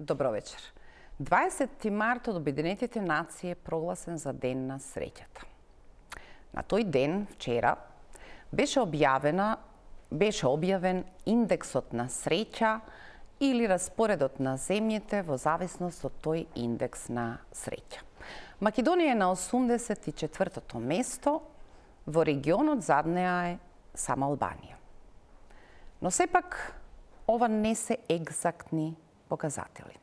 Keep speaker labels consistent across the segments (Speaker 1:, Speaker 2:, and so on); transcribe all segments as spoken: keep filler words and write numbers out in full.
Speaker 1: Добро вечер. дваесети март од Обединетите нации е прогласен за Ден на среќата. На тој ден, вчера, беше објавена, беше објавен индексот на среќа или распоредот на земјите во зависност од тој индекс на среќа. Македонија е на осумдесет и четвртото место, во регионот зад неа е само Албанија. Но сепак, ова не се екзактни показатели.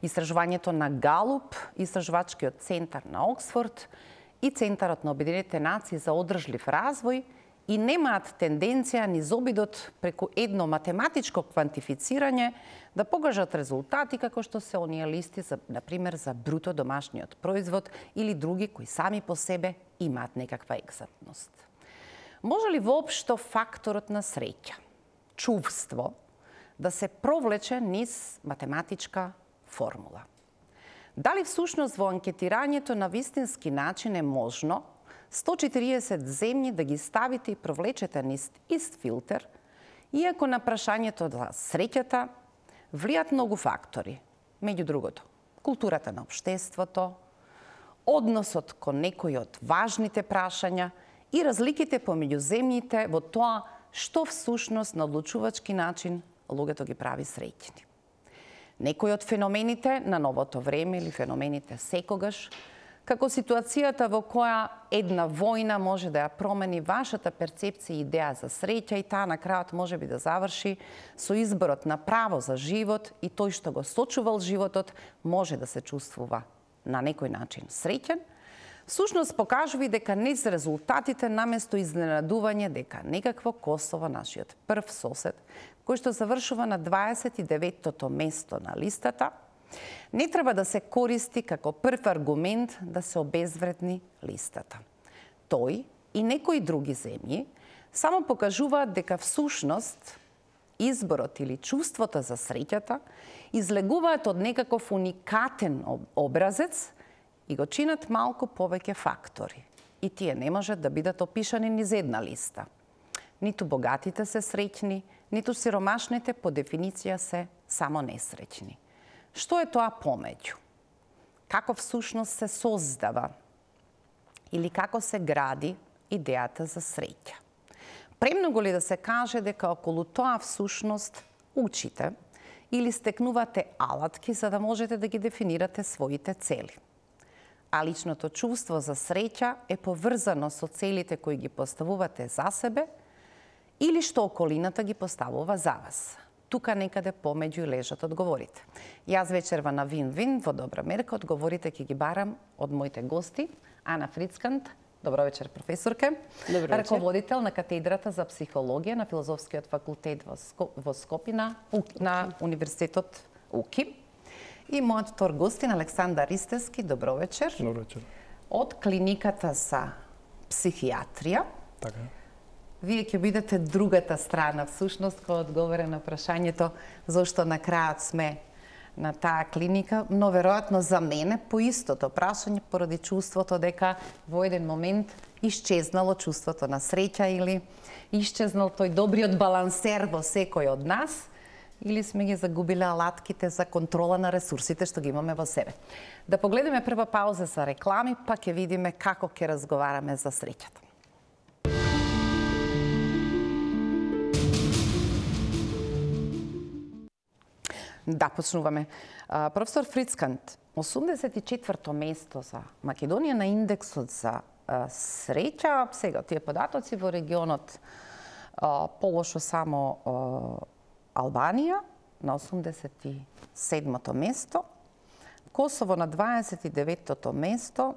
Speaker 1: Истражувањето на Галуп, Истражувачкиот центар на Оксфорд и Центарот на Обединетите нации за одржлив развој и немаат тенденција низ обидот преку едно математичко квантифицирање да покажат резултати како што се оние листи, за, например, за бруто домашниот производ или други кои сами по себе имаат некаква екзактност. Може ли воопшто факторот на среќа, чувство, да се провлече низ математичка формула? Дали всушност во анкетирањето на вистински начин е можно сто и четириесет земји да ги ставите и провлечете низ ист филтер, иако на прашањето за среќата влијат многу фактори, меѓу другото, културата на општеството, односот кон некои од важните прашања и разликите помеѓу земјите во тоа што всушност на одлучувачки начин луѓето ги прави среќни. Некои од феномените на новото време или феномените секогаш, како ситуацијата во која една војна може да ја промени вашата перцепција и идеја за среќа и таа на крајот може би да заврши со изборот на право за живот и тој што го сочувал животот може да се чувствува на некој начин среќен, всушност покажува дека низ резултатите наместо изненадување дека некакво Косово, нашиот прв сосед, кој што завршува на дваесет и деветото место на листата, не треба да се користи како прв аргумент да се обезвредни листата. Тој и некои други земји само покажуваат дека всушност изборот или чувството за среќата излегуваат од некаков уникатен образец и го чинат малку повеќе фактори. И тие не можат да бидат опишани низ една листа. Ниту богатите се среќни, ниту сиромашните по дефиниција се само несреќни. Што е тоа помеѓу? Како всушност се создава или како се гради идејата за среќа? Премногу ли да се каже дека околу тоа всушност учите или стекнувате алатки за да можете да ги дефинирате своите цели? А личното чувство за среќа е поврзано со целите кои ги поставувате за себе или што околината ги поставува за вас? Тука некаде помеѓу лежат одговорите. Јас вечерва на Вин-Вин во добра мерка одговорите ќе ги барам од моите гости. Ана Фрицкант, добро вечер професорке,
Speaker 2: добро вечер.
Speaker 1: Раководител на катедрата за психологија на Филозофскиот факултет во, Ско... во Скопје на, на Универзитетот УКИ. И мојот втор гостин Александар Ристевски, добро вечер.
Speaker 2: Добро вечер.
Speaker 1: Од клиниката за психијатрија.
Speaker 2: Така.
Speaker 1: Вие ќе бидете другата страна, всушност, која одговара на прашањето зошто на крајот сме на таа клиника, но веројатно за мене по истото прашање поради чувството дека во еден момент исчезнало чувството на среќа или исчезнал тој добриот балансер во секој од нас или сме ги загубиле алатките за контрола на ресурсите што ги имаме во себе. Да погледнеме прва пауза за реклами, па ќе видиме како ќе разговараме за среќата. Да, почнуваме. Професор Фрицкант, осумдесет и четврто место за Македонија на индексот за среќа. Сега, тие податоци во регионот полошо само Албанија на осумдесет и седмото место, Косово на дваесет и деветото место,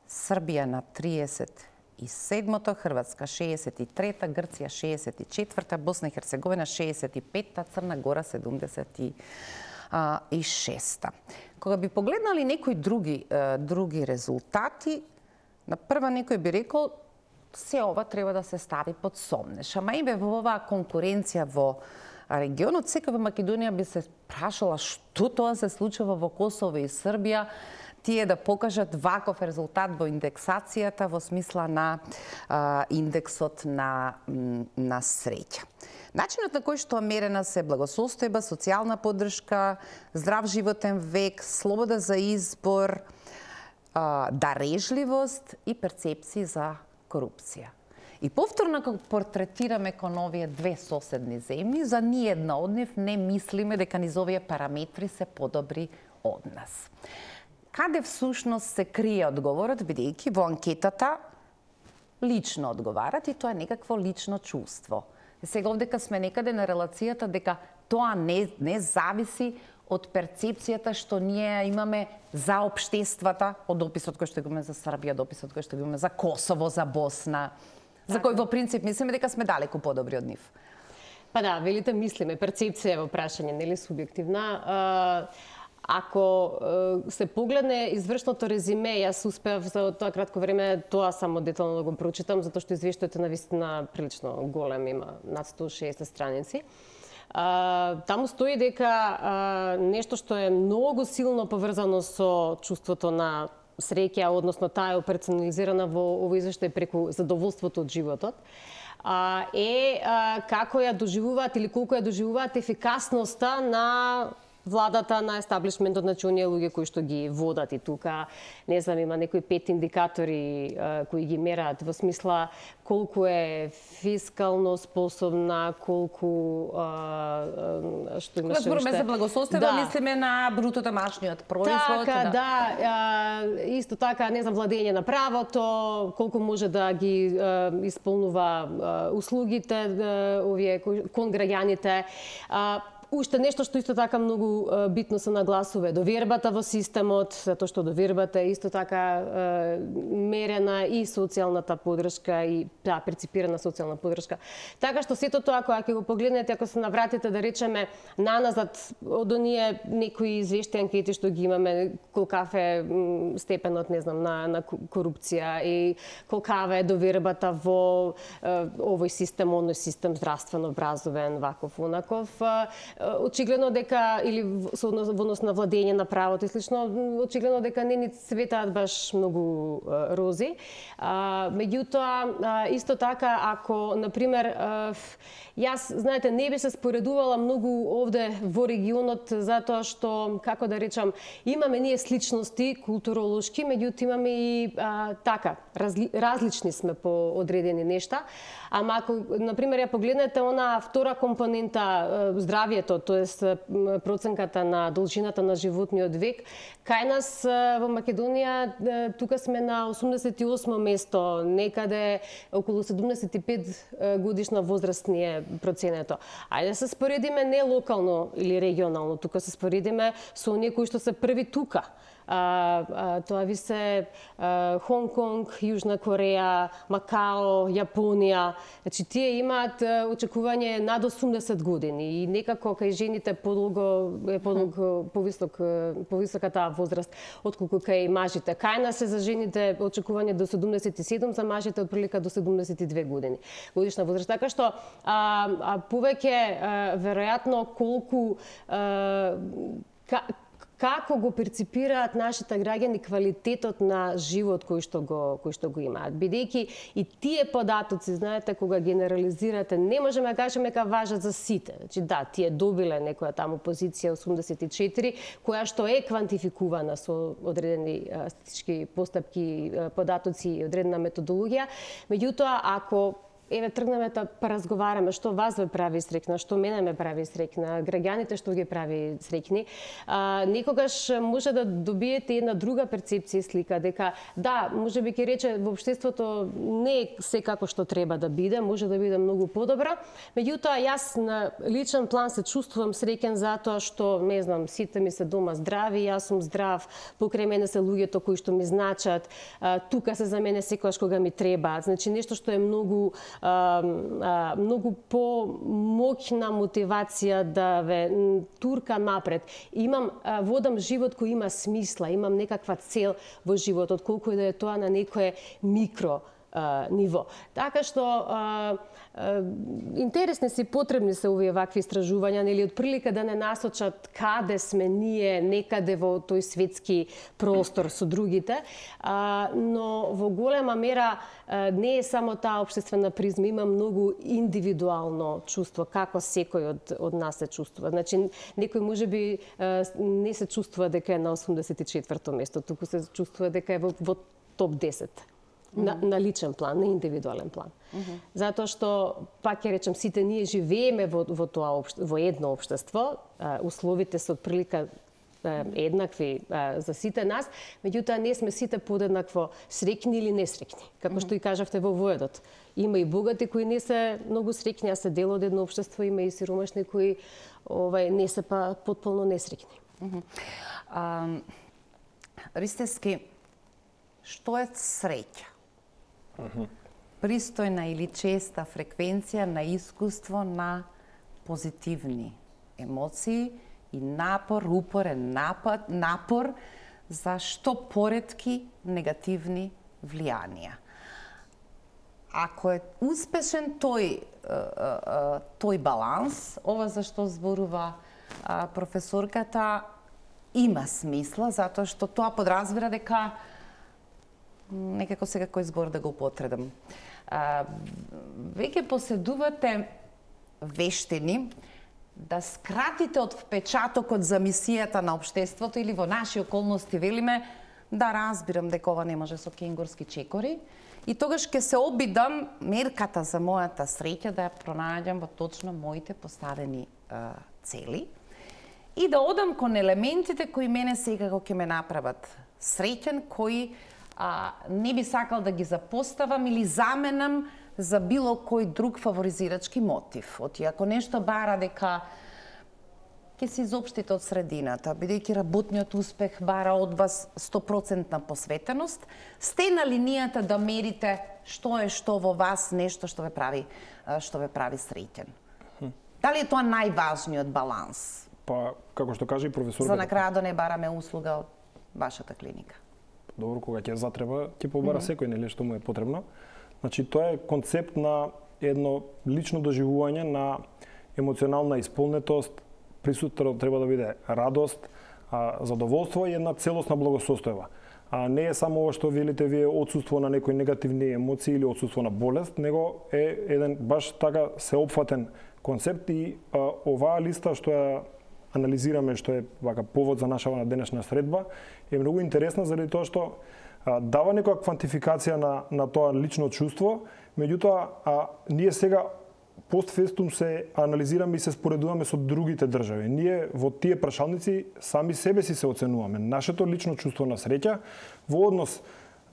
Speaker 1: Србија на триесет и седмото, Хрватска шеесет и трета, Грција шеесет и четврта, Босна и Херцеговина шеесет и петта, Црна Гора седумдесет и шеста. Кога би погледнали некои други, други резултати, на прва некој би рекол се ова треба да се стави под сомнеш. Ама и во оваа конкуренција во регионот, секава Македонија би се прашала што тоа се случува во Косово и Србија, тие да покажат ваков резултат во индексацијата во смисла на а, индексот на, на среќа. Начинот на кој што мерена се благосостојба, социјална поддршка, здрав животен век, слобода за избор, дарежливост и перцепции за корупција. И повторно кога портретираме кон овие две соседни земји, за ниедна од нив не мислиме дека низ овие параметри се подобри од нас. Каде всушност се крие одговорот, бидејќи во анкетата лично одговарат и тоа е некакво лично чувство. Сега овдека сме некаде на релацијата дека тоа не, не зависи од перцепцијата што ние имаме за општествата, од описот кој што го имаме за Србија, од описот кој што го имаме за Косово, за Босна, за кој во принцип мислиме дека сме далеку подобри од нив.
Speaker 2: Па да, велите мислиме, перцепција е во прашање, нели субјективна. Ако се погледне извршното резиме, јас успеав за тоа кратко време тоа само детално да го прочитам, затоа што извештајот е навистина прилично голем, има над сто и шеесет страници. Uh, таму стои дека uh, нешто што е многу силно поврзано со чувството на среќа, односно таа е операционализирана во овој извештај преку задоволството од животот, uh, е uh, како ја доживуваат или колку ја доживуваат ефикасноста на владата, на естаблишментот, на оние луѓе кои што ги водат. И тука, не знам, има некои пет индикатори а, кои ги мераат во смисла колку е фискално способна, колку а, што имаше уште.
Speaker 1: Кога збориме за благосостојба, да. Мислиме на бруто домашниот производ.
Speaker 2: Така, да, да а, исто така, не знам, владење на правото, колку може да ги а, исполнува а, услугите, да, овие кон граѓаните. А, Уште нешто што исто така многу битно се нагласува, довербата во системот, затоа што довербата е исто така мерена и социјалната поддршка и да, перципирана социјална поддршка. Така што сето тоа кога ќе го погледнете, ако се навратите да речеме наназад од оние некои извешти анкети што ги имаме, колкав е степенот, не знам, на, на корупција и колкава е довербата во овој систем, оној систем, здравствено, образовен, ваков, онаков, очигледно дека, или во однос на владење на правото и слично, очигледно дека не ни светаат баш многу рози. А, меѓутоа, исто така, ако, например, јас, знаете, не би се споредувала многу овде во регионот, затоа што, како да речам, имаме ние сличности културолошки, меѓутоа имаме и а, така, разли, различни сме по одредени нешта. Ама ако, например, ја погледнете она втора компонента, здравието, тоест проценката на должината на животниот век, кај нас во Македонија тука сме на осумдесет и осмо место, некаде околу седумдесет и пет годишна возраст ни е проценето. Ајде се споредиме не локално или регионално, тука се споредиме со оние кои што се први тука. А, а, тоа ви се а, Хонг Конг, Јужна Кореја, Макао, Јапонија. Значи, тие имаат очекување над осумдесет години и некако кај жените подолго е подолго повисок повисока таа возраст отколку кај мажите. Кај нас е за жените очекување до седумдесет и седум, за мажите од прилика до седумдесет и две години годишна возраст. Така што а, а повеќе а, веројатно колку а, ка, како го перципираат нашите граѓани квалитетот на живот кој што го кој што го имаат. Бидејќи и тие податоци, знаете, кога генерализирате, не можеме да кажеме дека важат за сите. Значи да, тие добиле некоја таму позиција осумдесет и четири, која што е квантификувана со одредени статистички постапки, податоци и одредена методологија. Меѓутоа, ако еве тргнеме да поразговараме што вас ве прави среќна, што мене ме прави среќна, граѓаните што ги прави среќни, а, некогаш може да добиете една друга перцепција и слика, дека да, може би ќе рече во општеството не е секако што треба да биде, може да биде многу подобро, меѓутоа јас на личен план се чувствувам среќен затоа што, не знам, сите ми се дома здрави, јас сум здрав, покрај мене се луѓето кои што ми значат, а, тука се за мене секогаш кога ми треба, значи нешто што е многу А, а, многу по-моќна мотивација да ве турка напред. Имам, а, водам живот кој има смисла, имам некаква цел во животот, колку и да е тоа на некое микро а, ниво. Така што а, а, интересни се, потребни се овие вакви истражувања, нели, од прилика да не насочат каде сме ние некаде во тој светски простор со другите, а, но во голема мера а, не е само таа општествена призма, има многу индивидуално чувство како секој од од нас се чувствува. Значи некој можеби а, не се чувствува дека е на осумдесет и четврто место, туку се чувствува дека е во, во топ десет. На, на личен план, на индивидуален план. Mm -hmm. Затоа што, пак ќе речем, сите ние живееме во, во, тоа, во едно општество, а, условите се отприлика а, еднакви а, за сите нас, меѓутоа не сме сите подеднакво среќни или несреќни. Како mm -hmm. што и кажавте во воедот. Има и богати кои не се многу среќни, а се дел од едно општество, има и сиромашни кои овај, не се па потполно несреќни.
Speaker 1: Mm -hmm. а, Ристевски, што е среќа? Пристојна или честа фреквенција на искуство на позитивни емоции и напор, упорен напад, напор за што поретки негативни влијанија. Ако е успешен тој, тој баланс, ова за што зборува професорката, има смисла, затоа што тоа подразбира дека некако сега кој збор да го употребам. Веќе поседувате вештини да скратите од впечатокот за мисијата на општеството или во наши околности велиме да разбирам дека ова не може со кенгурски чекори и тогаш ќе се обидам мерката за мојата среќа да ја пронајдам во точно моите поставени а, цели и да одам кон елементите кои мене секако ќе ме направат среќен, кои а, не би сакал да ги запоставам или заменам за било кој друг фаворизирачки мотив. Оти ако нешто бара дека ќе се изопштите од средината, бидејќи работниот успех бара од вас сто проценти посветеност, сте на линијата да мерите што е што во вас нешто што ве прави што ве прави среќен. Дали е тоа најважниот баланс?
Speaker 3: Па, како што каже и професорката.
Speaker 1: За на крај да не бараме услуга од вашата клиника.
Speaker 3: Добро, кога ќе затреба, ќе побара mm -hmm. секој, нели, што му е потребно. Значи, тоа е концепт на едно лично доживување на емоционална исполнетост, присутно треба да биде радост, задоволство и една целосна благосостојба. А не е само ова што велите вие отсуство на некои негативни емоции или отсуство на болест, него е еден баш така сеопфатен концепт и а, оваа листа што ја анализираме, што е вака повод за нашава денешна средба, е многу интересна заради тоа што а, дава некоја квантификација на на тоа лично чувство, меѓутоа а, ние сега постфестум се анализираме и се споредуваме со другите држави. Ние во тие прашалници сами себе си се оценуваме. Нашето лично чувство на среќа во однос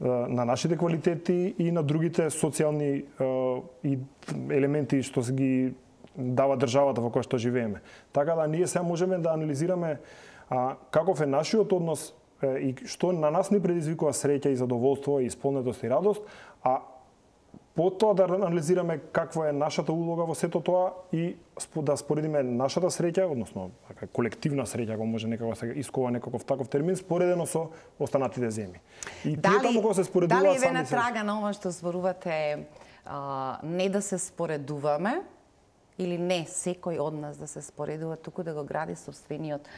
Speaker 3: на нашите квалитети и на другите социјални и елементи што се ги дава државата во која што живееме. Така да ние сега можеме да анализираме а, каков е нашиот однос е, и што на нас ни предизвикува среќа и задоволство и исполнетост и радост, а потоа да анализираме каква е нашата улога во сето тоа и да споредиме нашата среќа, односно колективна среќа, ако може некако се искова некаков таков термин, споредено со останатите земји. И тие таму кога се споредуваат
Speaker 1: сами
Speaker 3: се...
Speaker 1: Дали ве натрага на ова што зборувате а, не да се споредуваме или не секој од нас да се споредува, туку да го гради собствениот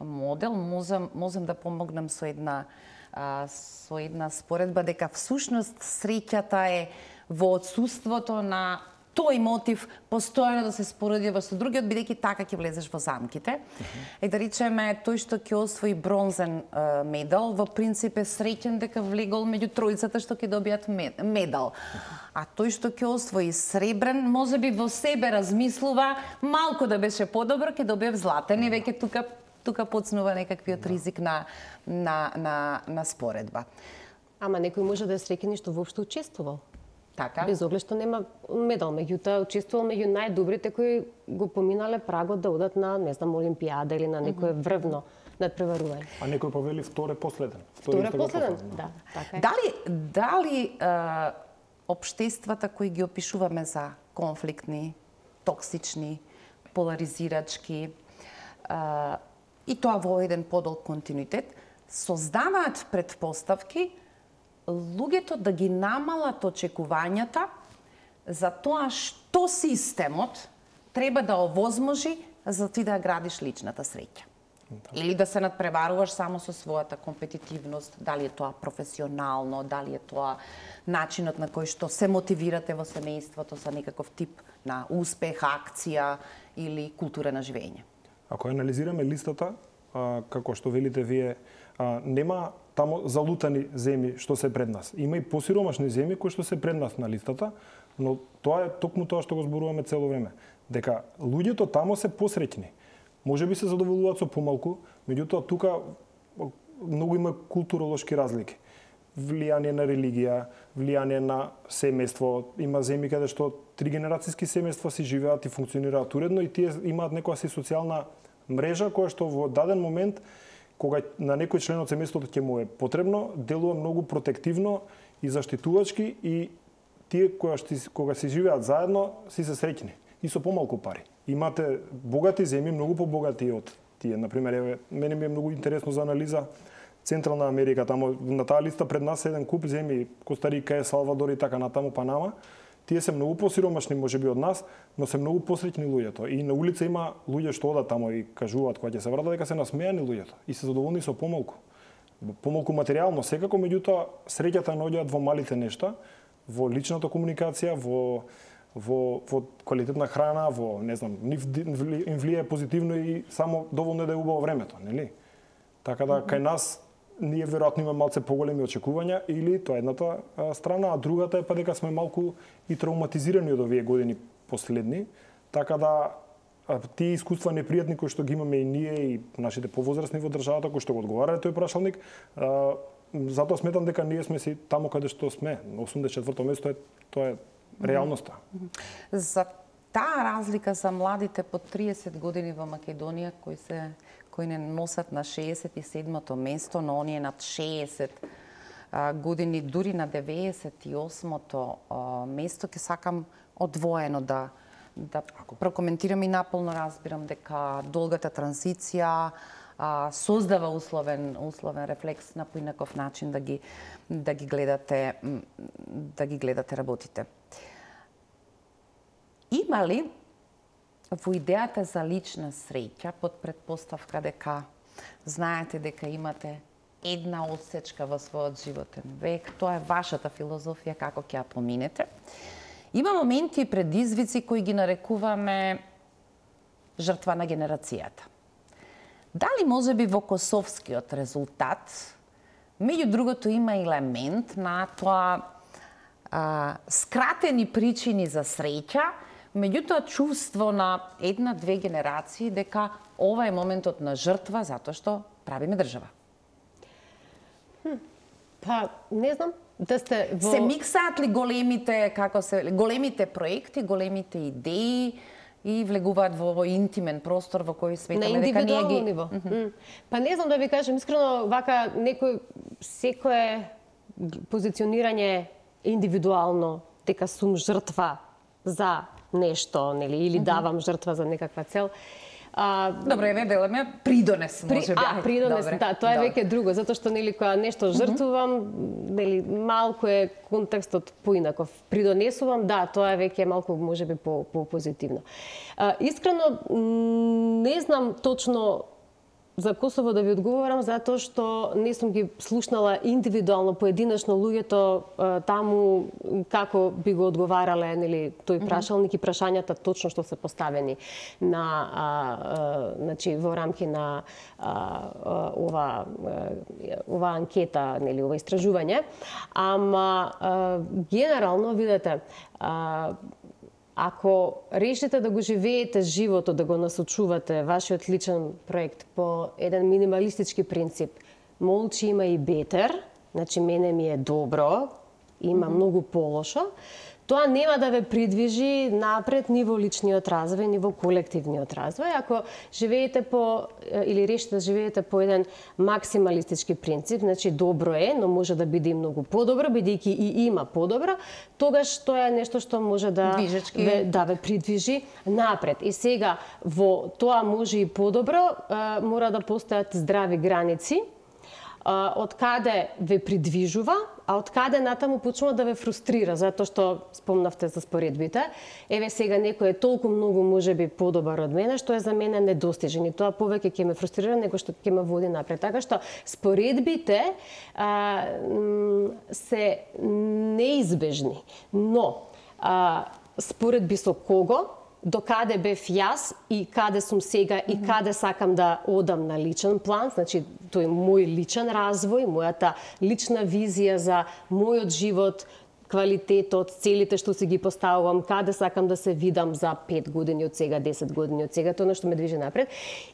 Speaker 1: модел, можам, можам да помогнам со една а, со една споредба дека всушност среќата е во отсуството на тој мотив постојано да се споредува со другиот, бидејќи така ќе влезеш во замките. Uh -huh. И да речеме, тој што ќе освои бронзен е, медал, во принцип е среќен дека влегол меѓу тројцата што ќе добијат медал. Uh -huh. А тој што ќе освои сребрен, можеби во себе размислува, малку да беше подобро, ќе добиев златен и веќе тука тука почнува некаквиот ризик на на на на споредба.
Speaker 2: Ама некој може да е среќен што воопшто учествувал.
Speaker 1: Така.
Speaker 2: Без оглед што нема медал, меѓутоа учествувал меѓу најдобрите кои го поминале прагот да одат на, не знам, олимпијада или на некое врвно надпреварување.
Speaker 3: А некој па вели вторе последен.
Speaker 2: Вторе последен, да, така е.
Speaker 1: Дали дали а, општествата кои ги опишуваме за конфликтни, токсични, поларизирачки а, и тоа во еден подолг континуитет создаваат предпоставки луѓето да ги намалат очекувањата за тоа што системот треба да овозможи за ти да градиш личната среќа. Да. Или да се надпреваруваш само со својата компетитивност, дали е тоа професионално, дали е тоа начинот на кој што се мотивирате во семејството за некаков тип на успех, акција или култура на живење.
Speaker 3: Ако анализираме листата, а, како што велите вие, а, нема таму залутани земји што се пред нас. Има и посиромашни земји кои што се пред нас на листата, но тоа е токму тоа што го зборуваме цело време, дека луѓето таму се посреќни. Може би се задоволуваат со помалку, меѓутоа тука многу има културолошки разлики. Влијание на религија, влијание на семејство, има земји каде што три генерацијски семејства си живеат и функционираат уредно и тие имаат некоја си социјална мрежа која што во даден момент кога на некој член од семејството ќе му е потребно, делува многу протективно и заштитувачки и тие која што кога си живеат заедно си се среќни и со помалку пари. Имате богати земји, многу побогати од тие. Например, еве, мене ми е многу интересно за анализа Централна Америка, таму на таа листа пред нас е еден куп земји, Костарика, Салвадор и така натаму, Панама. Тие се многу посиромашни можеби од нас, но се многу посреќни луѓето. И на улица има луѓе што одат таму и кажуваат кога ќе се вратат дека се насмејани луѓето и се задоволни со помалку. Помалку материјално секако, меѓутоа среќата наоѓаат во малите нешта, во личната комуникација, во во во квалитетна храна, во не знам, нив им влијае позитивно и само доволно е да е убаво времето, нели? Така да кај нас ние веројатно имаме малце поголеми очекувања или тоа е едната а, страна, а другата е па дека сме малку и травматизирани од овие години последни, така да а, тие искуства непријатни кои што ги имаме и ние и нашите повозрасни во државата кои што го одговарале тој прашалник, а, затоа сметам дека ние сме си таму каде што сме, на осумдесет и четврто место е тоа е реалноста.
Speaker 1: За таа разлика за младите под триесет години во Македонија кои се кои не носат на шеесет и седмото место, но оние над шеесет а, години, дури на деветдесет и осмото а, место, ќе сакам одвоено да да прокоментирам и наполно разбирам дека долгата транзиција а, создава условен условен рефлекс на поинаков начин да ги да ги гледате да ги гледате работите. Има ли во идејата за лична среќа под предпоставка дека знаете дека имате една одсечка во својот животен век, тоа е вашата филозофија како ќе ја поминете. Има моменти и предизвици кои ги нарекуваме жртва на генерацијата. Дали можеби во косовскиот резултат, меѓу другото има елемент на тоа а, скратени причини за среќа, меѓутоа чувство на една-две генерации дека ова е моментот на жртва затоа што правиме држава?
Speaker 2: Хм, па, не знам. Да сте во...
Speaker 1: Се миксаат ли големите, како се, големите проекти, големите идеи и влегуваат во овој интимен простор во кој сметаме дека ние ги...
Speaker 2: ниво. Mm -hmm. Па не знам да ви кажам искрено, вака некој секое позиционирање индивидуално дека сум жртва за нешто, нели, или давам жртва за некаква цел.
Speaker 1: А, Добре, еве велеме придонес, може би.
Speaker 2: А, придонес, Добре. Да, тоа е веќе друго, затоа што нели кога нешто жртвувам, нели малку е контекстот поинаков. Придонесувам, да, тоа е веќе малку можеби по по позитивно. А, искрено не знам точно за Косово да ви одговорам, затоа што не сум ги слушнала индивидуално, поединечно луѓето таму како би го одговарале, нели, тој прашалник и прашањата точно што се поставени на, а, а, значи, во рамки на а, а, ова, ова анкета, нели, ова истражување. Ама, а, генерално, видете, а, ако решите да го живеете животот, да го насочувате вашиот личен проект по еден минималистички принцип, молчи има и бетер, значи мене ми е добро, има mm -hmm. многу полошо, тоа нема да ве придвижи напред ни во личниот развој, ни во колективниот развој. Ако живеете по, или решите да живеете по еден максималистички принцип, значи добро е, но може да биде и многу подобро, бидејќи и има подобро, тогаш тоа е нешто што може да ве, да ве придвижи напред. И сега, во тоа може и подобро, мора да постојат здрави граници, од каде ве придвижува, а од каде натаму почнува да ве фрустрира, затоа што спомнавте за споредбите. Еве сега некој е толку многу можеби подобар од мене, што е за мене недостижен и тоа повеќе ќе ме фрустрира него што ќе ме води напред. Така што споредбите а, се неизбежни, но а, споредби со кого, до каде бев јас и каде сум сега и каде сакам да одам на личен план, значи тој мој личен развој, мојата лична визија за мојот живот, квалитетот, целите што си ги поставувам, каде сакам да се видам за пет години од сега, десет години од сега, тоа што ме движи напред.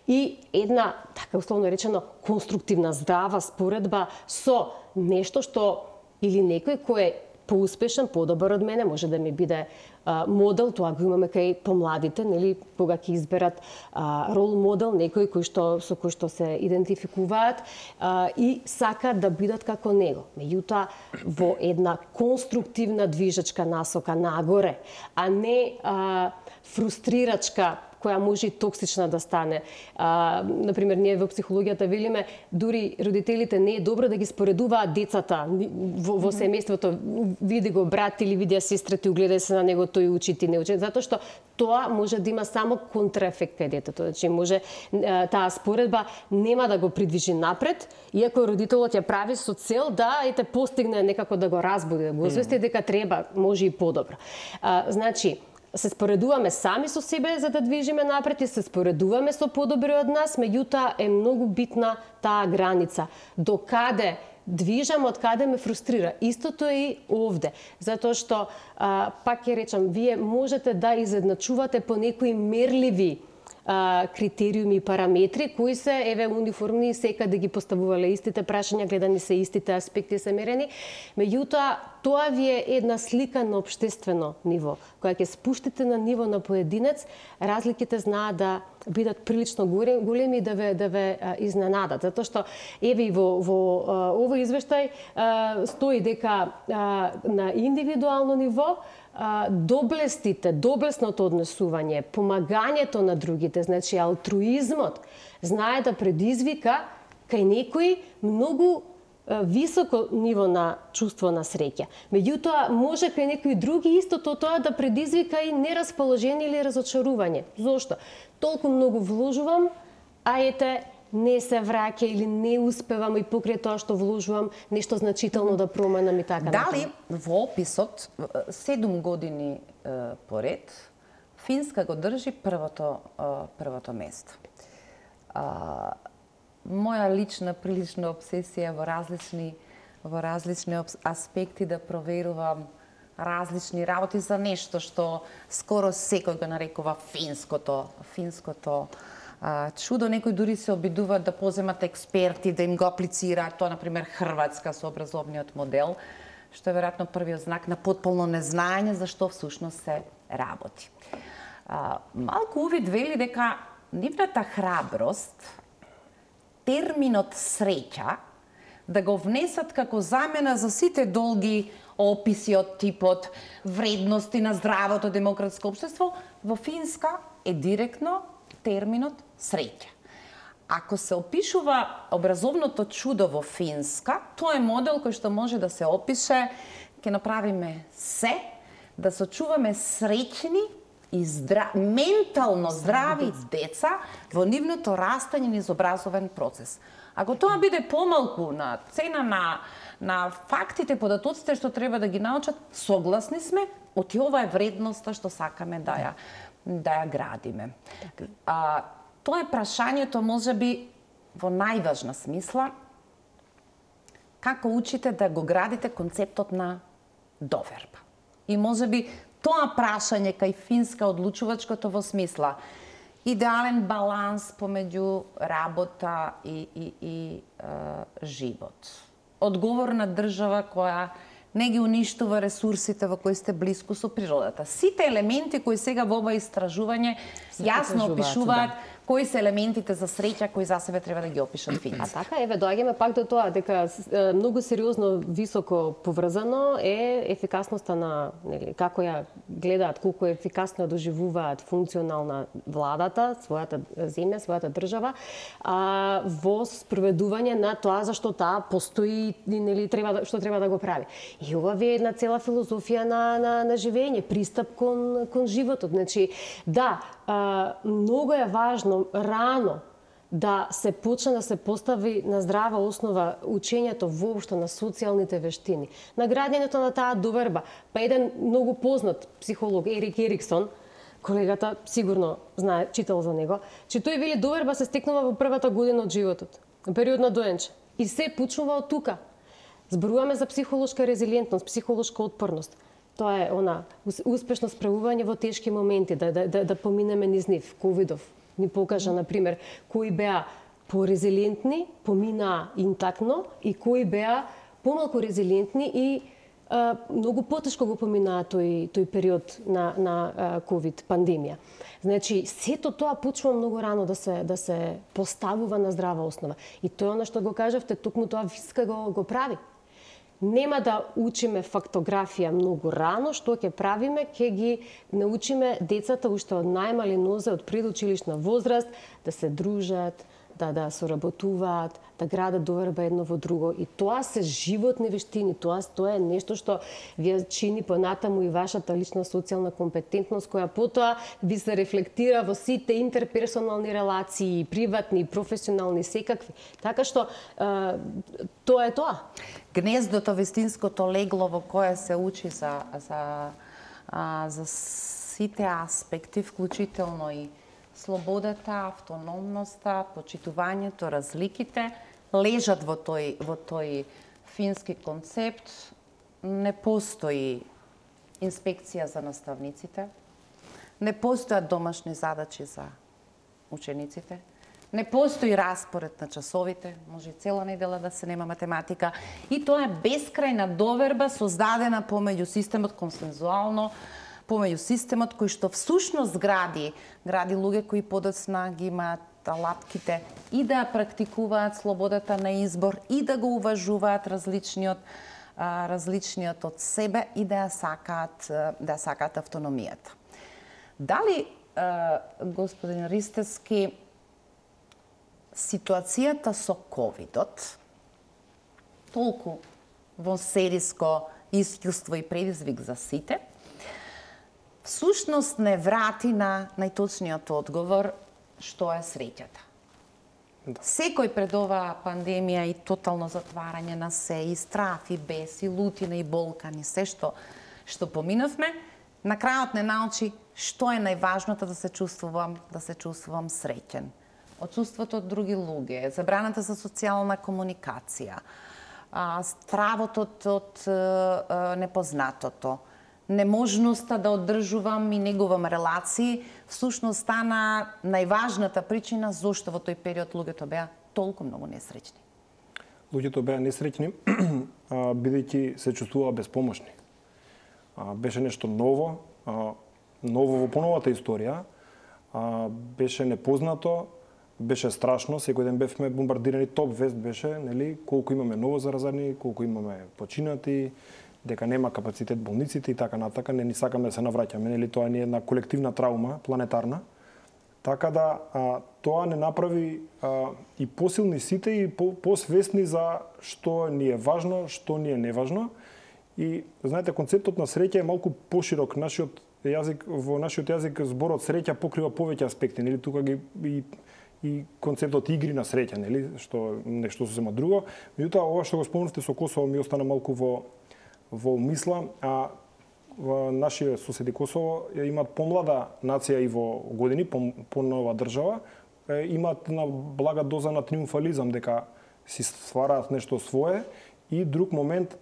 Speaker 2: И една, така условно речено, конструктивна, здрава споредба со нешто што или некој кој е поуспешен, подобар од мене, може да ми биде а, модел, тоа го имаме кај помладите, нели, кога ќе изберат а, рол модел, некој кој што со кој што се идентификуваат а, и сакаат да бидат како него. Меѓутоа во една конструктивна движечка насока нагоре, а не а, фрустрирачка која може и токсична да стане. А, например, ние во психологијата велиме, дури родителите не е добро да ги споредуваат децата во, во семејството. Види го брат или види сестра ти, угледај се на него, тој учи, ти не учи. Затоа што тоа може да има само контраефект кај детето. Значи, може таа споредба нема да го придвижи напред, иако родителот ја прави со цел да ете постигне некако да го разбуди, да го освести дека треба, може и подобро. А, значи, се споредуваме сами со себе за да движиме напред и се споредуваме со подобри од нас, меѓутоа е многу битна таа граница. До каде движам, од каде ме фрустрира. Истото е и овде, затоа што, а, пак ќе речам, вие можете да изедначувате по некои мерливи а, критериуми и параметри, кои се, еве, униформни и секаде ги поставувале истите прашања, гледани се истите аспекти се мерени. Меѓутоа, тоа ви е една слика на општествено ниво. Која ќе спуштите на ниво на поединец, разликите знаат да бидат прилично големи и да ве, да ве а, изненадат. Затоа што, еве и во, во а, овој извештај а, стои дека а, на индивидуално ниво а, доблестите, доблесното однесување, помагањето на другите, значи алтруизмот, знае да предизвика кај некои многу високо ниво на чувство на среќа. Меѓутоа, може кај некои други истото тоа да предизвика и нерасположение или разочарување. Зошто? Толку многу вложувам, а ете, не се враќа или не успевам и покрај тоа што вложувам нешто значително да променам и така.
Speaker 1: Дали во описот седум години е, поред Финска го држи првото е, првото место. А, моја лична прилична обсесија во различни во различни аспекти да проверувам различни работи за нешто што скоро секој го нарекува финското финското а, чудо. Некои дури се обидуваат да поземат експерти да им го аплицираат тоа, например Хрватска со образовниот модел, што е веројатно првиот знак на потполно незнаење за што всушност се работи. А, малку увид вели дека нивната храброст, терминот среќа, да го внесат како замена за сите долги описи од типот вредности на здравото демократско општество, во Финска е директно терминот среќа. Ако се опишува образовното чудо во Финска, тоа е модел кој што може да се опише, ќе направиме се, да се чуваме среќни и здрав... ментално здрави деца во нивното растање низ образовен процес. Ако тоа биде помалку на цена на, на фактите, податоците што треба да ги научат, согласни сме, оти ова е вредноста што сакаме да ја, да ја градиме. А, тоа е прашањето, можеби, во најважна смисла, како учите да го градите концептот на доверба. И можеби тоа прашање кај Финска одлучувачкото во смисла идеален баланс помеѓу работа и, и, и е, живот. Одговорна држава која не ги уништува ресурсите во кои сте блиску со природата. Сите елементи кои сега во ова истражување јасно опишуваат да. кои се елементите за среќа кои за себе треба да ги опишат финците.
Speaker 2: А така, еве, доаѓаме пак до тоа, дека многу сериозно, високо поврзано е ефикасноста на, нели, како ја гледаат, колку ефикасно доживуваат функционална владата, својата земја, својата држава, а, во спроведување на тоа зашто таа постои, нели, треба, што треба да го прави. И ова е една цела филозофија на, на, на живење, пристап кон, кон животот. Значи, да, а, многу е важно рано да се почне да се постави на здрава основа учењето воопшто на социјалните вештини, на градењето на таа доверба. Па еден многу познат психолог, Ерик Ериксон, колегата сигурно знае, читал за него, че тој вели доверба се стекнува во првата година од животот, период на доенче. И се почнува од тука. Зборуваме за психолошка резилиентност, психолошка отпорност. Тоа е она успешно справување во тешки моменти, да, да, да, да поминеме низ нив. Ковидов ни покажа, например, кои беа порезилиентни, поминаа интактно, и кои беа помалку резилиентни и а, многу потешко го поминаа тој, тој период на, на а, ковид пандемија. Значи, сето тоа почнува многу рано да се, да се поставува на здрава основа. И тоа е што го кажавте, токму тоа Виска го, го прави. Нема да учиме фактографија многу рано, што ќе правиме, ќе ги научиме децата уште од најмали нозе, од предучилишна возраст, да се дружат, да да соработуваат, да градат доверба едно во друго. И тоа се животни вештини, тоа, тоа е нешто што ви чини понатаму и вашата лична социјална компетентност, која потоа ви се рефлектира во сите интерперсонални релации, приватни, професионални, секакви. Така што е, тоа е тоа.
Speaker 1: Гнездото, вистинското легло во кое се учи за, за, а, за сите аспекти, вклучително и слободата, автономноста, почитувањето, разликите, лежат во тој, во тој фински концепт. Не постои инспекција за наставниците, не постојат домашни задачи за учениците, не постои распоред на часовите, може и цела недела да се нема математика, и тоа е бескрајна доверба создадена помеѓу системот консензуално, помеѓу системот кој што всушност гради, гради луѓе кои подоцна ги имаат алатките и да практикуваат слободата на избор и да го уважуваат различниот различниот од себе и да ја сакаат да ја сакаат автономијата. Дали господин Ристевски ситуацијата со ковидот, толку во сериско искуство и предизвик за сите, всушност не врати на најточниот одговор што е среќата. Да. Секој пред оваа пандемија и тотално затварање на се, и страф, и бес, и лутина, и болкани, се што, што поминавме, на крајот не научи што е најважното да се чувствувам, да се чувствувам среќен. Отсуството од други луѓе, забраната за социјална комуникација, стравот од, од непознатото, неможноста да одржувам и негувам релации, всушност стана најважната причина зошто во тој период луѓето беа толку многу несреќни.
Speaker 3: Луѓето беа несреќни, бидејќи се чувствуваа безпомошни. Беше нешто ново, ново во поновата историја, беше непознато, беше страшно, секој ден бевме бомбардирани, топ вест беше, нели, колку имаме ново заразени, колку имаме починати, дека нема капацитет болниците и така натака, не ни сакаме да се навраќаме, нели, тоа не е една колективна траума, планетарна. Така да а, тоа не направи а, и посилни сите и по, посвесни за што ни е важно, што ни е неважно. И знаете, концептот на среќа е малку поширок. Нашиот јазик, во нашиот јазик зборот среќа покрива повеќе аспекти, нели, тука ги и и концептот игри на среќа, нели, што нешто сосема друго. Меѓутоа, ова што го спомнавте со Косово ми остана малку во во мисла, а во нашите соседи Косово имаат помлада нација и во години, по нова држава, имаат една блага доза на триумфализам, дека си ствараат нешто свое, и друг момент,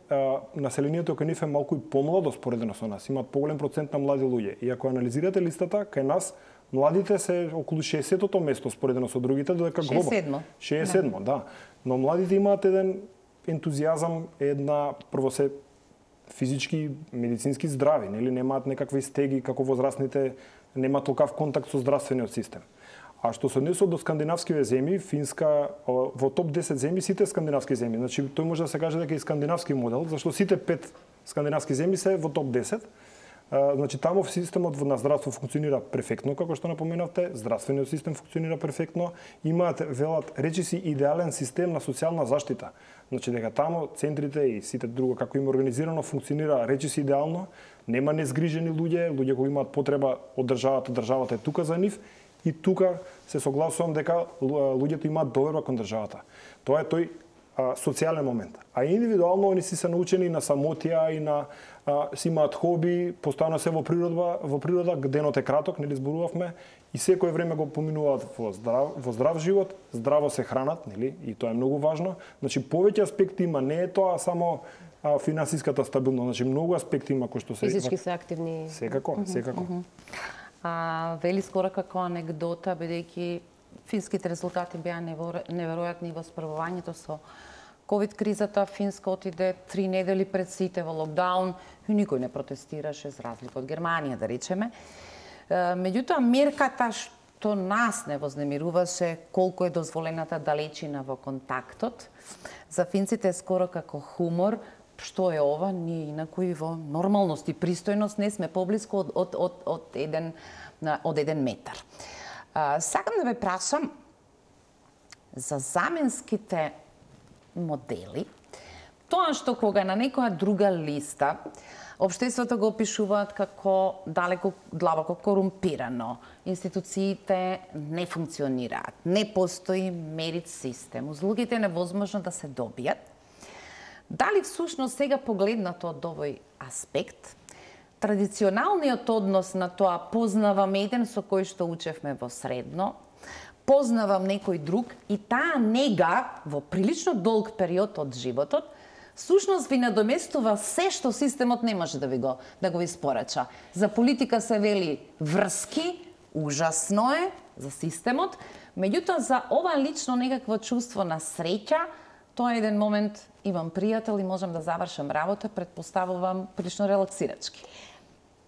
Speaker 3: населението кај нив е малку и помладо споредено со нас, имаат поголем процент на млади луѓе. И ако анализирате листата, кај нас младите се околу шеесеттото место споредено со другите, додека глобално
Speaker 1: шеесет седмо.
Speaker 3: шеесет седмо, да. Но младите имаат еден ентузијазам, една прво се физички, медицински здрави, нели, немаат некакви стеги како возрастните, немаат толкав контакт со здравствениот систем. А што се однесува до скандинавските земји, Финска во топ десет земји сите скандинавски земји. Значи тој може да се каже дека е скандинавски модел, зашто сите пет скандинавски земји се во топ десет. Значи таму системот на здравство функционира перфектно, како што напоменавте, здравствениот систем функционира перфектно, имаат велат речиси идеален систем на социјална заштита. Значи дека таму центрите и сите друго како има организирано функционира речиси идеално, нема незгрижени луѓе, луѓе кои имаат потреба од државата, државата е тука за нив и тука се согласувам дека луѓето имаат доверба кон државата. Тоа е тој а, социјален момент. А индивидуално они си се научени на самотија и на а, си имаат хоби, постојано се во природа, во природа, денот е краток, нели зборувавме, и секое време го поминуваат во здрав, во здрав живот, здраво се хранат, нели, и тоа е многу важно. Значи повеќе аспекти има, не е тоа само а, финансиската стабилност, значи многу аспекти има кои што се
Speaker 2: физички се активни.
Speaker 3: Секако, секако.
Speaker 1: Mm -hmm. А, вели скоро како анегдота, бидејќи финските резултати беа неверојатни во справувањето со ковид кризата, Финска отиде три недели пред сите во локдаун и никој не протестираше, за разлика од Германија, да речеме. Меѓутоа, мерката што нас не вознемируваше, колку е дозволената далечина во контактот, за финците е скоро како хумор. Што е ова? Ние инаку и во нормалност и пристојност не сме поблиску од, од, од, од, еден, од еден метар. А, сакам да ве прашам за заменските модели, тоа што кога на некоја друга листа општеството го опишуваат како далеко длабоко корумпирано, институциите не функционираат, не постои мерит систем, услугите е невозможно да се добијат. Дали всушност сега погледнато од овој аспект, традиционалниот однос на тоа познавам еден со кој што учевме во средно, познавам некој друг и таа нега во прилично долг период од животот, всушност ви надоместува се што системот не може да ви го да го испорача. За политика се вели врски, ужасно е за системот, меѓутоа за ова лично некакво чувство на среќа, тоа е еден момент, имам пријател и можам да завршам работа, предпоставувам прилично релаксирачки.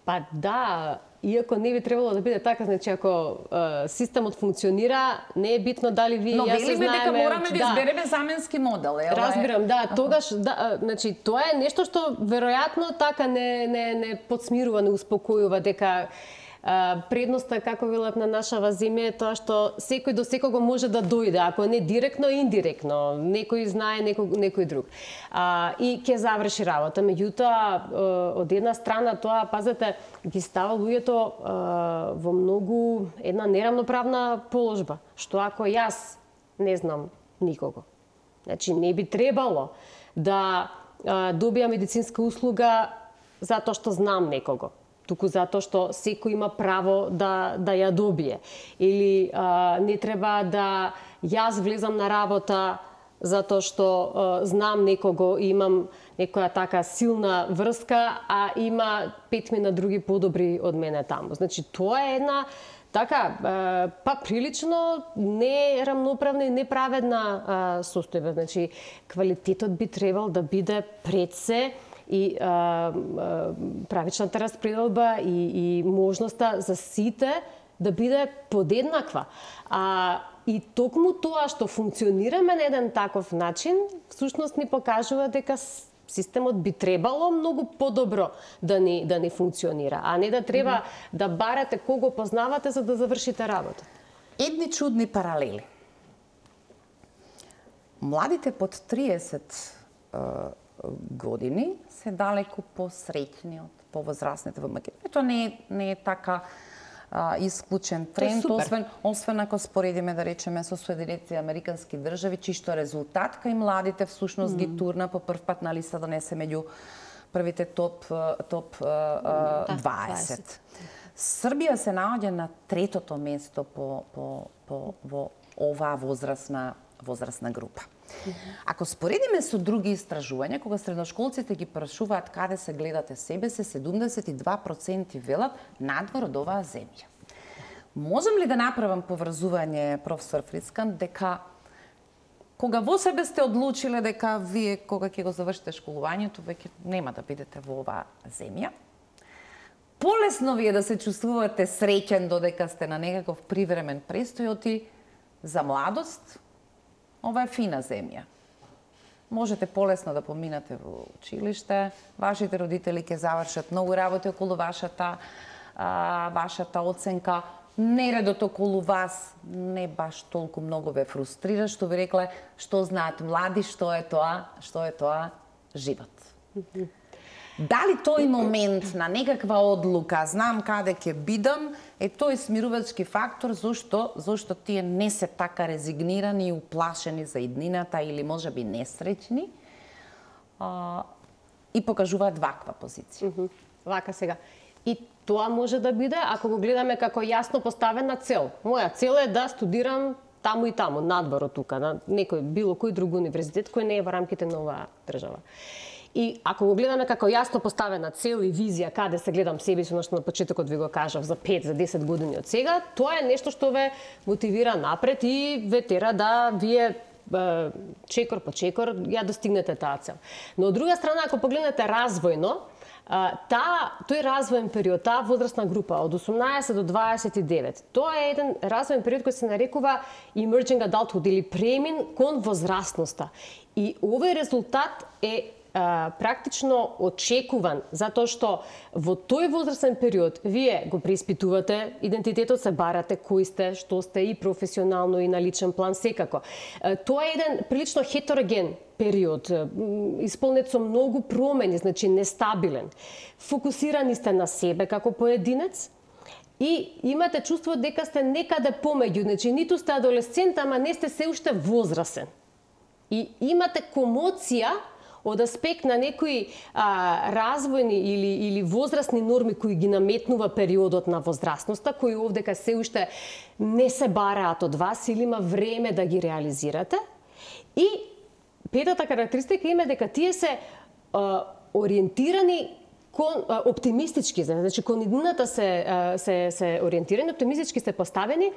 Speaker 2: Па да, иако не би требало да биде така, значи ако е, системот функционира, не е битно дали ви
Speaker 1: Но
Speaker 2: ја се
Speaker 1: велиме дека мораме да,
Speaker 2: да
Speaker 1: избереме заменски модел, е.
Speaker 2: Разбирам, да, тогаш да, значи тоа е нешто што веројатно така не не не подсмирува, не успокојува дека предноста, како велат на нашава земја, е тоа што секој до секого може да дојде, ако не директно, индиректно. Некој знае, некој, некој друг. А, и ќе заврши работа. Меѓутоа, од една страна тоа, пазете, ги става луѓето во многу една неравноправна положба. Што ако јас не знам никого? Значи, не би требало да а, добија медицинска услуга затоа што знам некого, туку затоа што секој има право да да ја добие. Или а, не треба да јас влезам на работа затоа што а, знам некого и имам некоја така силна врска, а има петмина други подобри од мене таму. Значи тоа е една така па прилично нерамноправна и неправедна состојба. Значи квалитетот би требал да биде пред се и а, а, правичната распределба и, и можноста за сите да биде подеднаква. А, и токму тоа што функционираме на еден таков начин, всушност ни покажува дека системот би требало многу подобро да ни да ни функционира, а не да треба mm -hmm. да барате кого познавате за да завршите работа.
Speaker 1: Едни чудни паралели. Младите под триесет години се далеку посреќни од повозрастните во Македонија. Тоа не е, не е така а, исклучен тренд, освен, освен ако споредиме, да речеме, со Соединетите Американски држави, чишто резултат кај младите всушност mm. ги турна по прв пат на листа да не се меѓу првите топ, топ а, а, дваесет. Србија се наоѓа на третото место по, по, по, во оваа возрастна, возрастна група. Ако споредиме со други истражувања, кога средношколците ги прашуваат каде се гледате себе се, седумдесет и два проценти велат надвор од оваа земја. Можам ли да направам поврзување, професор Фрицкан, дека кога во себе сте одлучиле дека вие кога ќе го завршите школувањето, веќе нема да бидете во оваа земја, полесно ви е да се чувствувате среќен додека сте на некаков привремен престој, оти за младост, ова е фина земја. Можете полесно да поминате во училиште, вашите родители ќе завршат многу работи околу вашата, а, вашата оценка, нередот околу вас не баш толку многу ве фрустрира, што ви рекле, што знаат млади, што е тоа, што е тоа живот. Дали тој момент на некаква одлука, знам каде ќе бидам, е тој смирувачки фактор зашто зашто тие не се така резигнирани и уплашени за иднината или можеби несреќни а, и покажуваат ваква позиција.
Speaker 2: Mm -hmm. Вака сега. И тоа може да биде ако го гледаме како јасно поставена цел. Моја цел е да студирам таму и таму, надвор од тука, на некој било кој друг универзитет кој не е во рамките на оваа држава. И ако го гледаме како јасно поставена цел и визија каде се гледам себе си, што на почетокот ви го кажав за пет, за десет години од сега, тоа е нешто што ве мотивира напред и ве тера да вие чекор по чекор ја достигнете таа цел. Но од друга страна, ако погледнете развојно, таа тој развоен период, таа возрастна група од осумнаесет до дваесет и девет, тоа е еден развоен период кој се нарекува emerging adulthood или премин кон возрастноста. И овој резултат е а, практично очекуван, затоа што во тој возрастен период вие го преиспитувате идентитетот, се барате кој сте, што сте и професионално и на личен план секако. Тоа е еден прилично хетероген период, исполнет со многу промени, значи нестабилен. Фокусирани сте на себе како поединец и имате чувство дека сте некаде помеѓу, значи ниту сте адолесцент, ама не сте се уште возрасен. И имате комоција од аспект на некои а, развојни или, или возрастни норми кои ги наметнува периодот на возрастноста, кои овдека се уште не се бараат од вас или има време да ги реализирате. И петата карактеристика има дека тие се а, ориентирани кон а, оптимистички, значи кон иднината се, а, се се ориентирани, оптимистички се поставени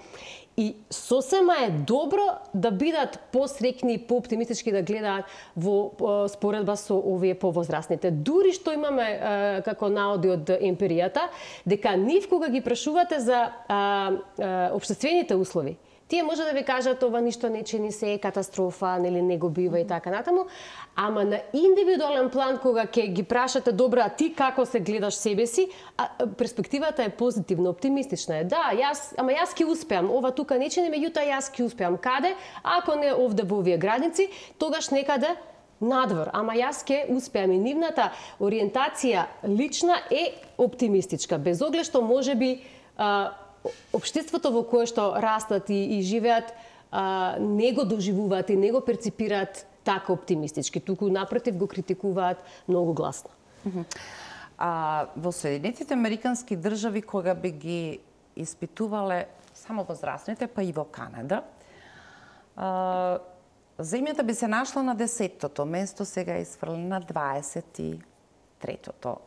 Speaker 2: и сосема е добро да бидат посрекни и пооптимистички да гледаат во а, споредба со овие повозрастните. Дури што имаме а, како наоди од емпиријата, дека нив кога ги прашувате за а, а, општествените услови, тие може да ви кажат ова ништо не чини, се е катастрофа, нели не го бива и така натаму, ама на индивидуален план кога ќе ги прашате добро, а ти како се гледаш себе си, а, перспективата е позитивна, оптимистична е. Да, јас, ама јас ќе успеам, ова тука не чини, меѓутоа јас ќе успеам. Каде? Ако не овде во овие граници, тогаш некаде надвор, ама јас ќе успеам. И нивната ориентација лична е оптимистичка, без оглед што можеби општеството во кое што растат и, и живеат а, не го доживуваат и не го перципираат така оптимистички, туку напротив го критикуваат многу гласно.
Speaker 1: А, во Соединетите Американски држави, кога би ги испитувале само возрастните, па и во Канада, а, земјата би се нашла на десеттото место, сега е изфрлена на дваесет и третото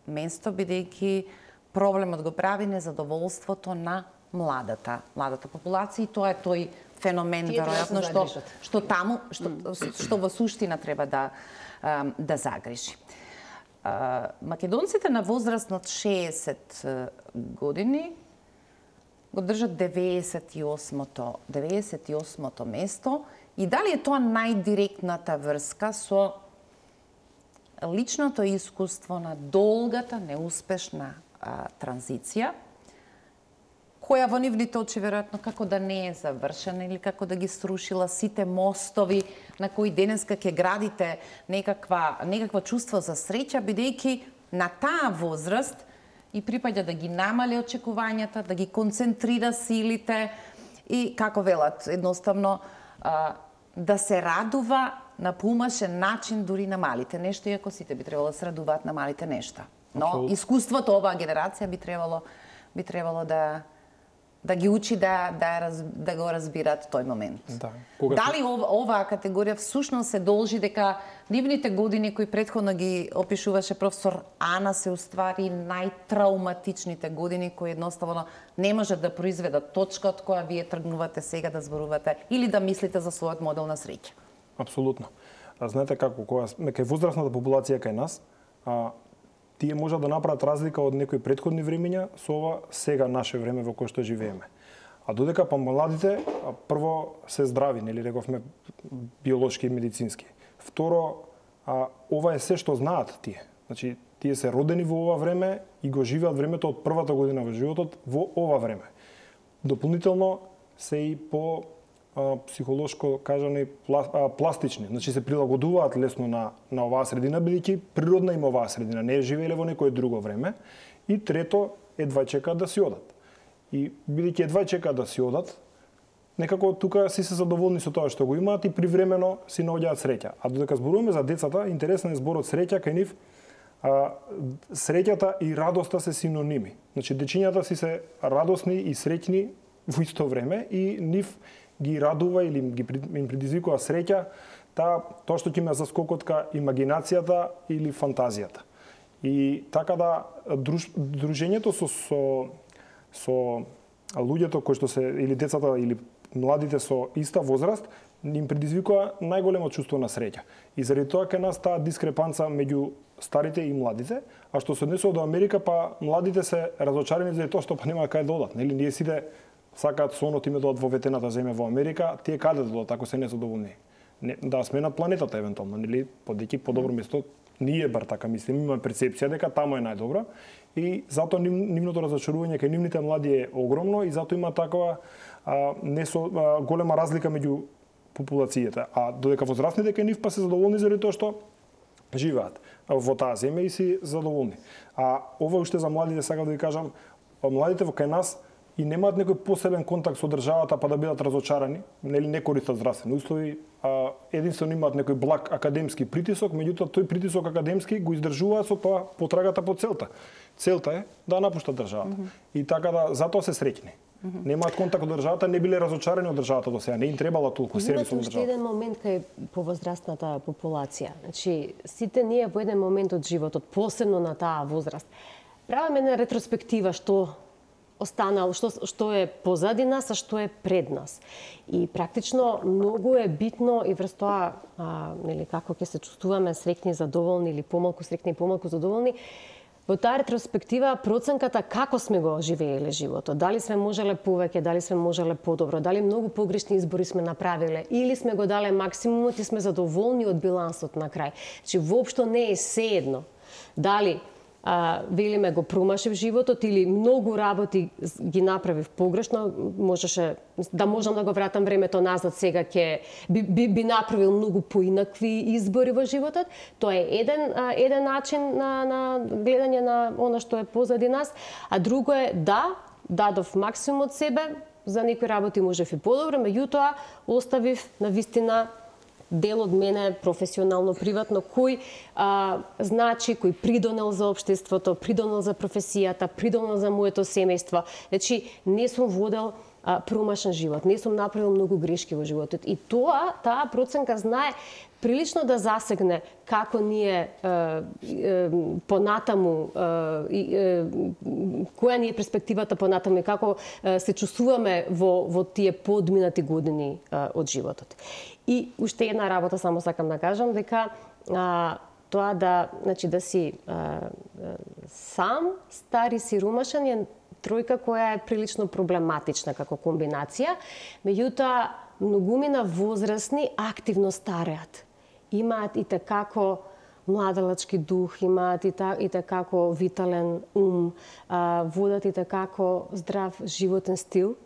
Speaker 1: место, бидејќи проблемот го прави незадоволството на младата, младата популација, и тоа е тој феномен веројатно што што таму што што во суштина треба да да загрижи. Македонците на возраст над шеесет години го држат деветдесет и осмото деветдесет и осмото место, и дали е тоа најдиректната врска со личното искуство на долгата неуспешна А, транзиција, која во нивните очи веројатно како да не е завршена или како да ги срушила сите мостови на кои денеска ќе градите некаква, некаква чувство за среќа, бидејќи на таа возраст и припаѓа да ги намали очекувањата, да ги концентрира силите и, како велат, едноставно а, да се радува на поумашен начин дури на малите нешта, иако сите би требало да се радуваат на малите нешта. Но Absolutely. Искуството оваа генерација би требало би требало да да ги учи да да да го разбираат тој момент.
Speaker 3: Да.
Speaker 1: Кога Дали ов, оваа категорија всушност се должи дека нивните години кои претходно ги опишуваше професор Ана се уствари најтрауматичните години кои едноставно не можат да произведат точка од која вие тргнувате сега да зборувате или да мислите за својот модел на среќа?
Speaker 3: Апсолутно. А знаете како кога сме кај возрастната популација кај нас, а тие можат да направат разлика од некои претходни времења со ова сега наше време во кое што живееме. А додека па младите прво се здрави, нели рековме биолошки и медицински. Второ, а, ова е се што знаат тие. Значи, тие се родени во ова време и го живеат времето од првата година во животот во ова време. Дополнително се и по а, психолошко кажани пластични, значи се прилагодуваат лесно на на оваа средина бидејќи природна им оваа средина, не живееле во некое друго време. И трето, едва чекаат да си одат. И бидејќи едва чекаат да си одат, некако тука си се задоволни со тоа што го имаат и привремено си наоѓаат среќа. А додека зборуваме за децата, интересен е зборот среќа кај нив. А, среќата и радоста се синоними. Значи дечињата си се радосни и среќни во исто време и нив ги радува или ги им предизвикува среќа та тоа што ќе ме заскокотка имагинацијата или фантазијата. И така да друж, дружењето со со со луѓето кои што се или децата или младите со иста возраст им предизвикува најголемо чувство на среќа. И заради тоа кај нас таа дискрепанца меѓу старите и младите, а што се однесува до Америка, па младите се разочарени заради тоа што па нема кај да одат. Нели ние сите сакаат сонот им да одат во ветената земја во Америка, тие каде да одат ако се незадоволни? Не, да сменат планетата евентуално, нели подеки подобро место. Ние бар така мислим, имаме перцепција дека таму е најдобра и затоа нив, нивното разочарување кај нивните млади е огромно и затоа има такова а, не со а, голема разлика меѓу популацијата. А додека возрастните кај нив па се задоволни заради тоа што живеат во таа земја и си задоволни. А ова уште за младите сакам да ви кажам, младите во кај нас и немаат некој посебен контакт со државата па да бидат разочарани, нели не користат здравствени услови, а единствено имаат некој благ академски притисок, меѓутоа тој притисок академски го издржуваат со тоа потрагата по целта. Целта е да напуштат државата. Mm -hmm. И така да затоа се среќни. Mm -hmm. Немаат контакт од државата, не биле разочарани од државата до сега, не им требала толку сервис од државата.
Speaker 2: Имате еден момент кај повозрастната популација. Значи, сите ние во еден момент од животот, посебно на таа возраст, правиме една ретроспектива што останало, што, што е позади нас, а што е пред нас. И практично многу е битно и врз тоа, а, нели, како ќе се чувствуваме среќни, задоволни или помалку среќни и помалку задоволни, во таа ретроспектива проценката како сме го живееле животот, дали сме можеле повеќе, дали сме можеле подобро, дали многу погрешни избори сме направиле или сме го дале максимумот и сме задоволни од билансот на крај. Значи воопшто не е сеедно дали а, велиме го промашив животот или многу работи ги направив погрешно, можеше да можам да го вратам времето назад сега ќе би, би, би направил многу поинакви избори во животот. Тоа е еден а, еден начин на на гледање на она што е позади нас, а друго е да дадов максимум од себе, за некои работи можев и подобро, меѓутоа оставив на вистина дел од мене, професионално, приватно, кој а, значи, кој придонел за општеството, придонел за професијата, придонел за моето семејство. Значи, не сум водел а, промашен живот, не сум направил многу грешки во животот. И тоа, таа проценка знае прилично да засегне како ние е, е, понатаму, е, е, која ни е перспективата понатаму и како е, се чувствуваме во, во тие подминати години е, од животот. И уште една работа само сакам да кажам, дека а, тоа да, значи, да си а, сам, стар и сиромашен е тројка која е прилично проблематична како комбинација, меѓутоа многумина возрастни активно стареат. Имаат и такако младалачки дух, имаат и, та, и такако витален ум, а, водат и такако здрав животен стил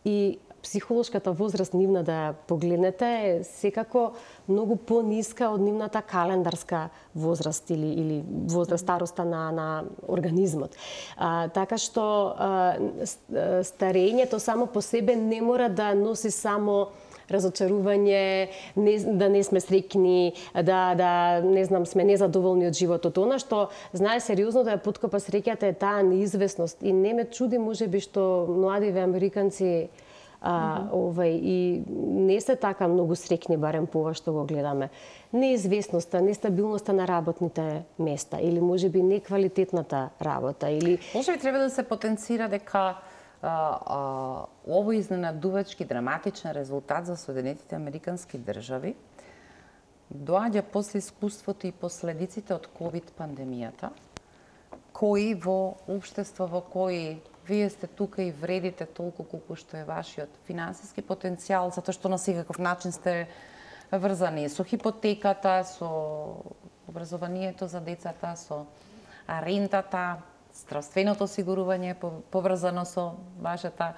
Speaker 2: и психолошката возраст нивна да ја погледнете е секако многу пониска од нивната календарска возраст или, или возраст староста на, на организмот. А, така што а, старењето само по себе не мора да носи само разочарување, не, да не сме среќни, да, да не знам, сме незадоволни од животот. Она што знае сериозно да ја поткопа среќата е таа неизвестност и не ме чуди можеби што младиве американци А, mm -hmm. овај, и не се така многу среќни, барем по ова што го гледаме. Неизвестноста, нестабилноста на работните места или можеби неквалитетната работа или
Speaker 1: можеби треба да се потенцира дека а, а, овој изненадувачки драматичен резултат за Соединетите американски држави доаѓа после искуството и последиците од ковид пандемијата, кои во општество во кои вие сте тука и вредите толку колку што е вашиот финансиски потенцијал, затоа што на секаков начин сте врзани со хипотеката, со образованието за децата, со рентата, здравственото осигурување поврзано со вашата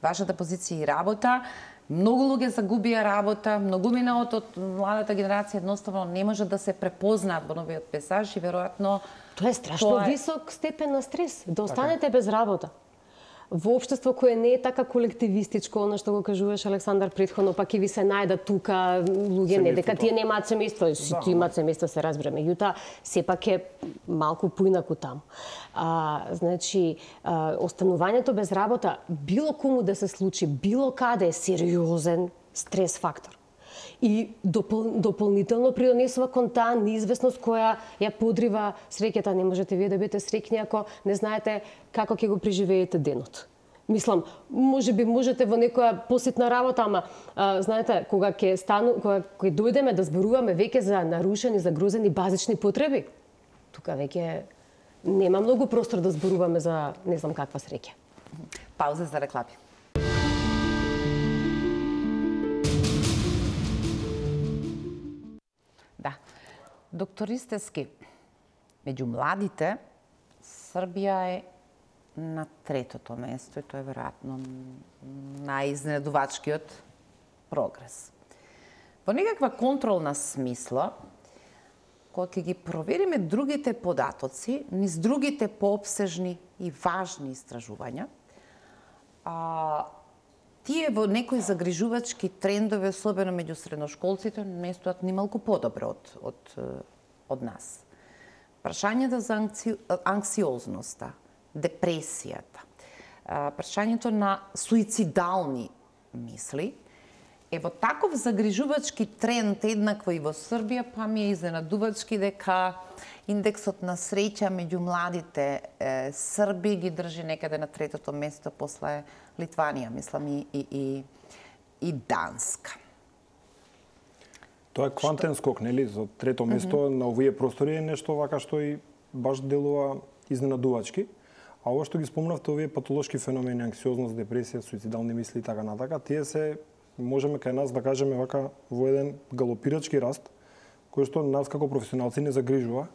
Speaker 1: вашата позиција и работа. Многу луѓе загубија работа, многумина од младата генерација едноставно не може да се препознаат во новиот пейзаж и веројатно
Speaker 2: тоа е страшно
Speaker 1: тоа е...
Speaker 2: висок степен на стрес, да останете без работа. Во општество кое не е така колективистичко, она што го кажуваш Александар претходно, па ќе ви се најдат тука луѓе не дека тие немаат семејство, сите имаат семејство, се разбере, меѓутоа сепак е малку поинаку таму. А, значи, а, останувањето без работа, било кому да се случи, било каде е сериозен стрес фактор. И допол, дополнително придонесува кон таа неизвестност која ја подрива среќата. Не можете вие да бидете среќни ако не знаете како ќе го преживеете денот. Мислам, може би можете во некоја посетна работа, ама а, знаете, кога ќе стану, кога ќе дојдеме да зборуваме веќе за нарушени, загрозени базични потреби, тука веќе нема многу простор да зборуваме за не знам каква среќа.
Speaker 1: Пауза за реклами. Да. Доктор Ристевски, меѓу младите, Србија е на третото место и тоа е веројатно најизненадувачкиот прогрес. Во некаква контролна смисла, кога ќе ги провериме другите податоци, низ другите поопсежни и важни истражувања, а, тие во некои загрижувачки трендови, особено меѓу средношколците, местоат нималку подобро од, од, од нас. Прашањето за анкси, анксиозноста, депресијата, прашањето на суицидални мисли, е во таков загрижувачки тренд еднакво и во Србија, па ми е изненадувачки дека индексот на среќа меѓу младите е, Срби ги држи некаде на третото место после Литванија, мислам, и, и, и, и Данска.
Speaker 3: Тоа е квантен скок, нели, за трето место mm -hmm. на овие простори е нешто вака што и баш делува изненадувачки. А ово што ги спомнавте, овие патолошки феномени, анксиозност, депресија, суицидални мисли и така натака, тие се можеме кај нас да кажеме вака во еден галопирачки раст, кој што нас како професионалци не загрижува.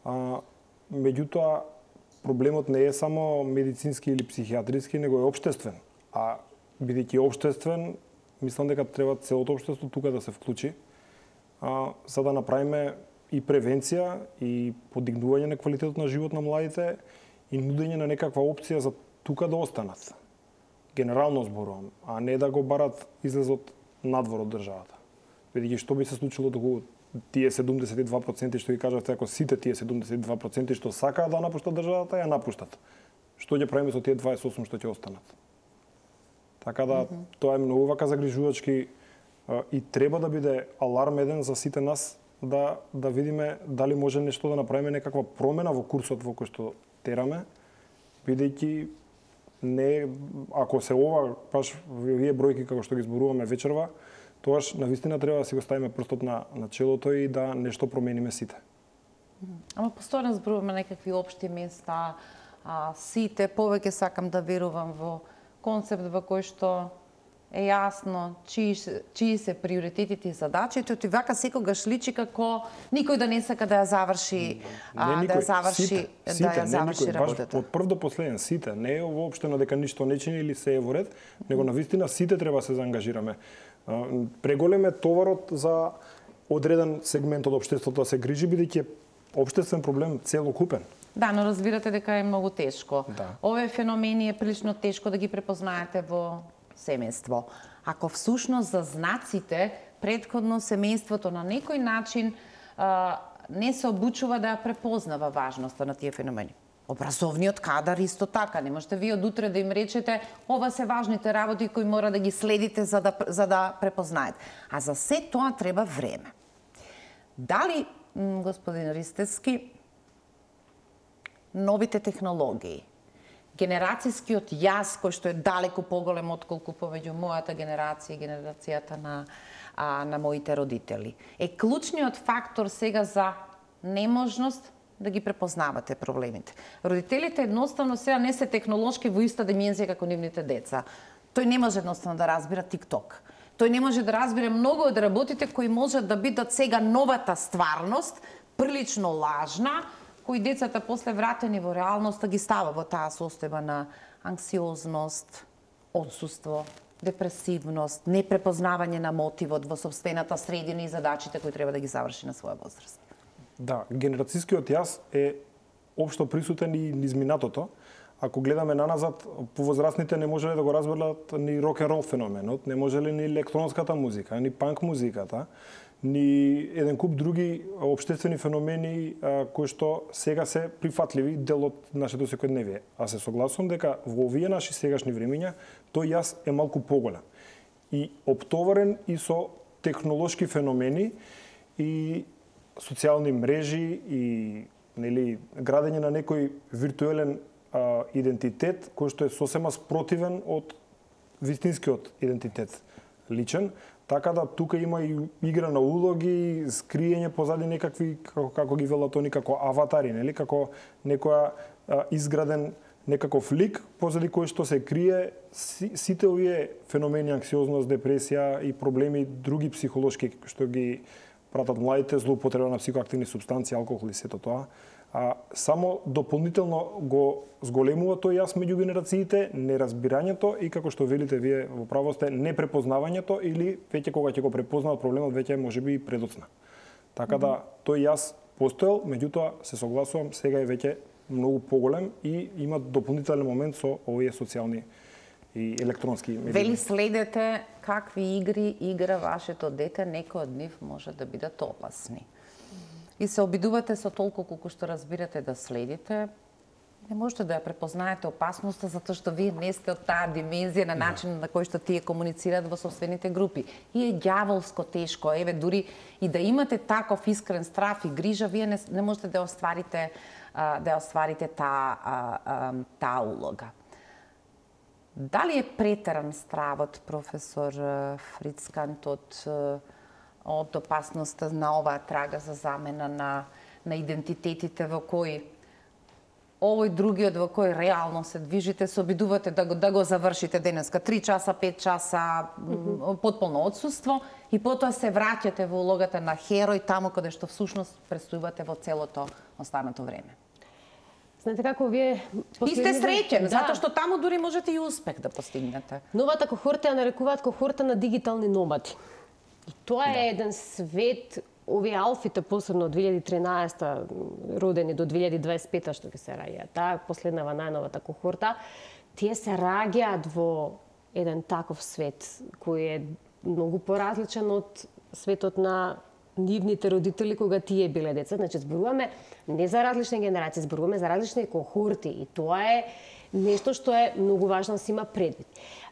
Speaker 3: А, меѓутоа, проблемот не е само медицински или психијатриски, него е општествен. А бидејќи општествен, мислам дека треба целото општество тука да се вклучи, а, за да направиме и превенција, и подигнување на квалитетот на живот на младите, и нудење на некаква опција за тука да останат. Генерално зборувам, а не да го барат излезот надвор од државата. Бидејќи што би се случило доколку тие седумдесет и два проценти што ги кажавте, ако сите тие седумдесет и два проценти што сакаат да напуштат државата, ја напуштат. Што ќе правиме со тие дваесет и осум што ќе останат? Така да, mm -hmm. тоа е многу вака загрижувачки и треба да биде аларм еден за сите нас да да видиме дали може нешто да направиме, некаква промена во курсот во кој што тераме, бидејќи не, ако се ова, баш вие бројки како што ги зборуваме вечерва, тоаш навистина треба да си го ставиме прстот на, на челото и да нешто промениме сите.
Speaker 1: Ама постојано зборуваме некакви општи места, а, сите, повеќе сакам да верувам во концепт во кој што е јасно чии, чии се приоритетите и задачите, и вака секогаш личи како никој да не сака да ја заврши, а, никој, да ја заврши,
Speaker 3: сите,
Speaker 1: да
Speaker 3: сите,
Speaker 1: ја заврши
Speaker 3: никој,
Speaker 1: работата.
Speaker 3: Од прв до последен сите, не е воопштено дека ништо не чини или се е во ред, него навистина сите треба се заангажираме. Преголем е товарот за одреден сегмент од општеството да се грижи, бидејќи е општествен проблем целокупен.
Speaker 1: Да, но разбирате дека е многу тешко.
Speaker 3: Да.
Speaker 1: Овие феномени е прилично тешко да ги препознаете во семејство. Ако всушност за знаците претходно семејството на некој начин а, не се обучува да ја препознава важноста на тие феномени. Образовниот кадар исто така. Не можете вие од утре да им речете ова се важните работи кои мора да ги следите за да, за да препознаете. А за се тоа треба време. Дали, господин Ристевски, новите технологии, генерацијскиот јаз кој што е далеко поголем отколку помеѓу мојата генерација и генерацијата на, а, на моите родители, е клучниот фактор сега за неможност да ги препознавате проблемите. Родителите едноставно сега не се технолошки во иста димензија како нивните деца. Тој не може едноставно да разбира TikTok. Тој не може да разбира многу од работите кои можат да бидат сега новата стварност, прилично лажна, кои децата после вратени во реалноста ги става во таа состојба на анксиозност, отсуство, депресивност, непрепознавање на мотивот во собствената средина и задачите кои треба да ги заврши на своја возраст.
Speaker 3: Да, генерацијскиот јас е општо присутен и низ минатото. Ако гледаме наназад, повозрастните не можеле да го разберат ни рок-н-рол феноменот, не можеле ни електронската музика, ни панк музиката, ни еден куп други општествени феномени а, кои што сега се прифатливи дел од нашето секојдневие. А се согласувам дека во овие наши сегашни времиња тој јас е малку поголем и оптоварен и со технолошки феномени и социјални мрежи и нели градење на некој виртуелен а, идентитет кој што е сосема спротивен од вистинскиот идентитет личен. Така да тука има и игра на улоги, скриење позади некакви, како, како ги велат они, како аватари, нели? Како некоја а, изграден некаков лик, позади кој што се крие си, сите овие феномени, анксиозност, депресија и проблеми други психолошки што ги пратат младите, злоупотреба на психоактивни супстанции, алкохол и сето тоа. А, само дополнително го зголемува тој јас меѓу генерациите, неразбирањето и како што велите вие во право сте, непрепознавањето или веќе кога ќе го препознаат проблемот веќе можеби и предоцна. Така да тој јас постоел, меѓутоа се согласувам, сега е веќе многу поголем и има дополнителен момент со овие социјални и електронски медии.
Speaker 1: Вели следете какви игри игра вашето дете, некои од нив може да бидат опасни. И се обидувате со толку колку што разбирате да следите, не можете да ја препознаете опасноста затоа што вие не сте од таа димензија на начин на кој што тие комуницираат во собствените групи. И е ѓаволско тешко, еве дури и да имате таков искрен страв и грижа, вие не, не можете да остварите да ја остварите таа таа улога. Дали е претеран стравот, професор Фрицкант, од од опасноста на оваа трага за замена на, на идентитетите во кои овој другиот во кој реално се движите, се обидувате да го, да го завршите денеска три часа, пет часа, mm-hmm. потполно отсуство и потоа се враќате во улогата на херој таму каде што всушност престојувате во целото останато време.
Speaker 2: Знаете како вие
Speaker 1: И сте среќен, да. Затоа што таму дури можете и успех да постигнете.
Speaker 2: Новата кохорта ја нарекуваат кохорта на дигитални номади. И тоа е да. еден свет, овие алфите, посебно од две илјади и тринаесета родени до две илјади и дваесет и пета што ќе се раѓаат, таа последнава најновата кохорта, тие се раѓаат во еден таков свет кој е многу поразличен од светот на нивните родители кога тие биле деца. Значи зборуваме не за различни генерации, зборуваме за различни кохорти и тоа е нешто што е многу важно да се има предвид.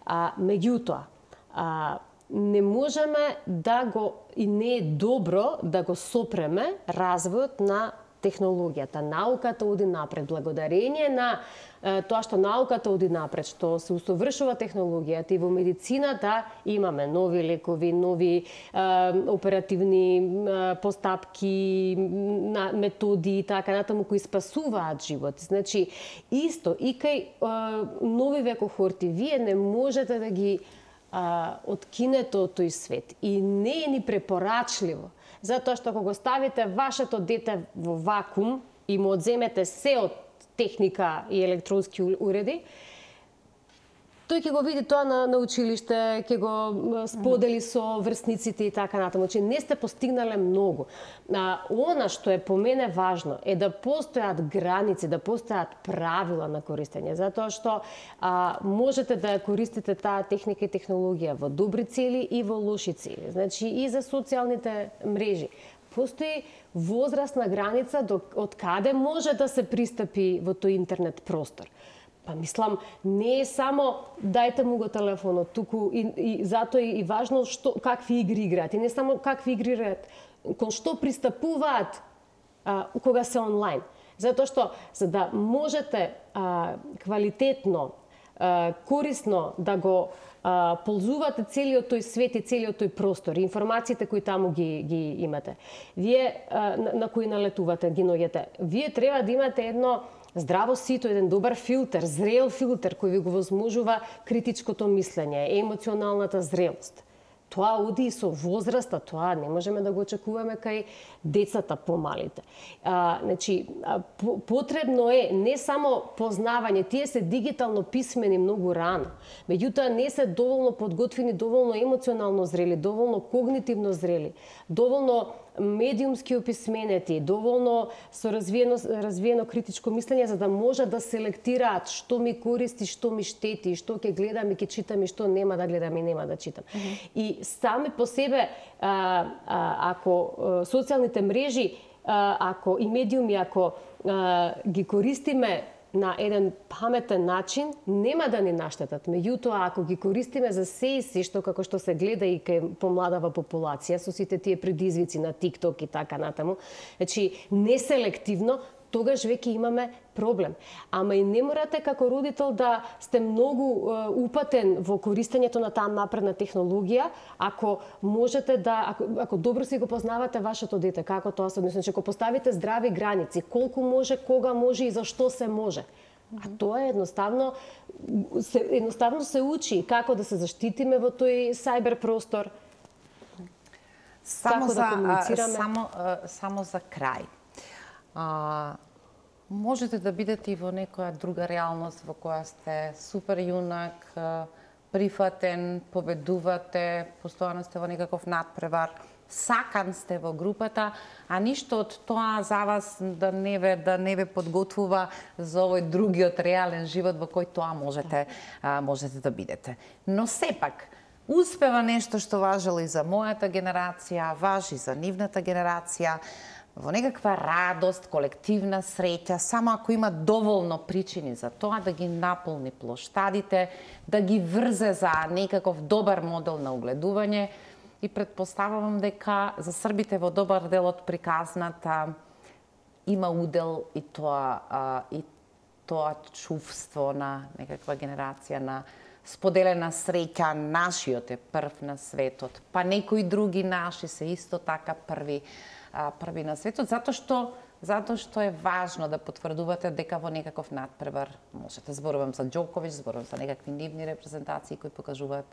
Speaker 2: А меѓутоа, а не можеме да го, и не е добро да го сопреме развојот на технологијата. Науката оди напред. Благодарение на е, тоа што науката оди напред, што се усовршува технологијата и во медицината имаме нови лекови, нови е, оперативни е, постапки, на, методи и така натаму кои спасуваат животи. Значи, исто и кај е, новиве кохорти, вие не можете да ги а, откинете од тој свет и не е ни препорачливо, затоа што кога го ставите вашето дете во вакуум и му одземете се од техника и електронски уреди, тој ќе го види тоа на, на училиште, ќе го сподели со врсниците и така натаму. Значи не сте постигнале многу. А, она што е по мене важно е да постојат граници, да постојат правила на користење, затоа што а, можете да користите таа техника и технологија во добри цели и во лоши цели. Значи и за социјалните мрежи. Постои возрастна граница до, од каде може да се пристапи во тој интернет простор. Па мислам, не е само дајте му го телефонот, туку и, и затоа и важно што какви игри играат. И не само какви игри играат, кон што пристапуваат а, кога се онлайн. Затоа што за да можете а, квалитетно корисно да го а, ползувате целиот тој свет и целиот тој простор, информациите кои таму ги, ги имате. Вие а, на, на кои налетувате, ги наоѓате. Вие треба да имате едно здраво сито, еден добар филтер, зрел филтер кој ви го возможува критичкото мислење, емоционалната зрелост. Тоа оди и со возраста, тоа не можеме да го очекуваме кај децата помалите. А, значи, а, потребно е не само познавање, тие се дигитално писмени многу рано, меѓутоа не се доволно подготвени, доволно емоционално зрели, доволно когнитивно зрели, доволно медиумски описменети, доволно со развиено, развиено критичко мислење за да може да селектираат што ми користи, што ми штети, што ќе гледам и ќе читам и што нема да гледам и нема да читам. Mm -hmm. И сами по себе, а, а, ако а, социјалните мрежи, а, ако и медиуми, ако а, ги користиме на еден паметен начин, нема да ни наштетат. Меѓутоа, ако ги користиме за се и се, што како што се гледа и кај помладава популација, со сите тие предизвици на TikTok и така натаму, значи, неселективно, тогаш веќе имаме проблем. Ама и не морате како родител да сте многу е, упатен во користењето на таа напредна технологија, ако можете да, ако, ако добро си го познавате вашето дете, како тоа се односи, ако поставите здрави граници, колку може, кога може и зашто се може. А тоа е едноставно се, едноставно се учи како да се заштитиме во тој сајбер простор.
Speaker 1: Само за, да само, само за крај. А, можете да бидете и во некоја друга реалност во која сте супер јунак, прифатен, победувате, постојано сте во некаков надпревар, сакан сте во групата, а ништо од тоа за вас да не ве да не ве подготвува за овој другиот реален живот во кој тоа можете а, можете да бидете. Но сепак успева нешто што важело и за мојата генерација, важи за нивната генерација, во некаква радост, колективна среќа, само ако има доволно причини за тоа да ги наполни плоштадите, да ги врзе за некаков добар модел на огледување и предпоставувам дека за србите во добар дел од приказната има удел и тоа а, и тоа чувство на некаква генерација на споделена среќа, нашиот е прв на светот, па некои други наши се исто така први први на светот, затоа што затоа што е важно да потврдувате дека во некаков надпревар можете. Зборувам за Џоковиќ, зборувам за некакви нивни репрезентации кои покажуваат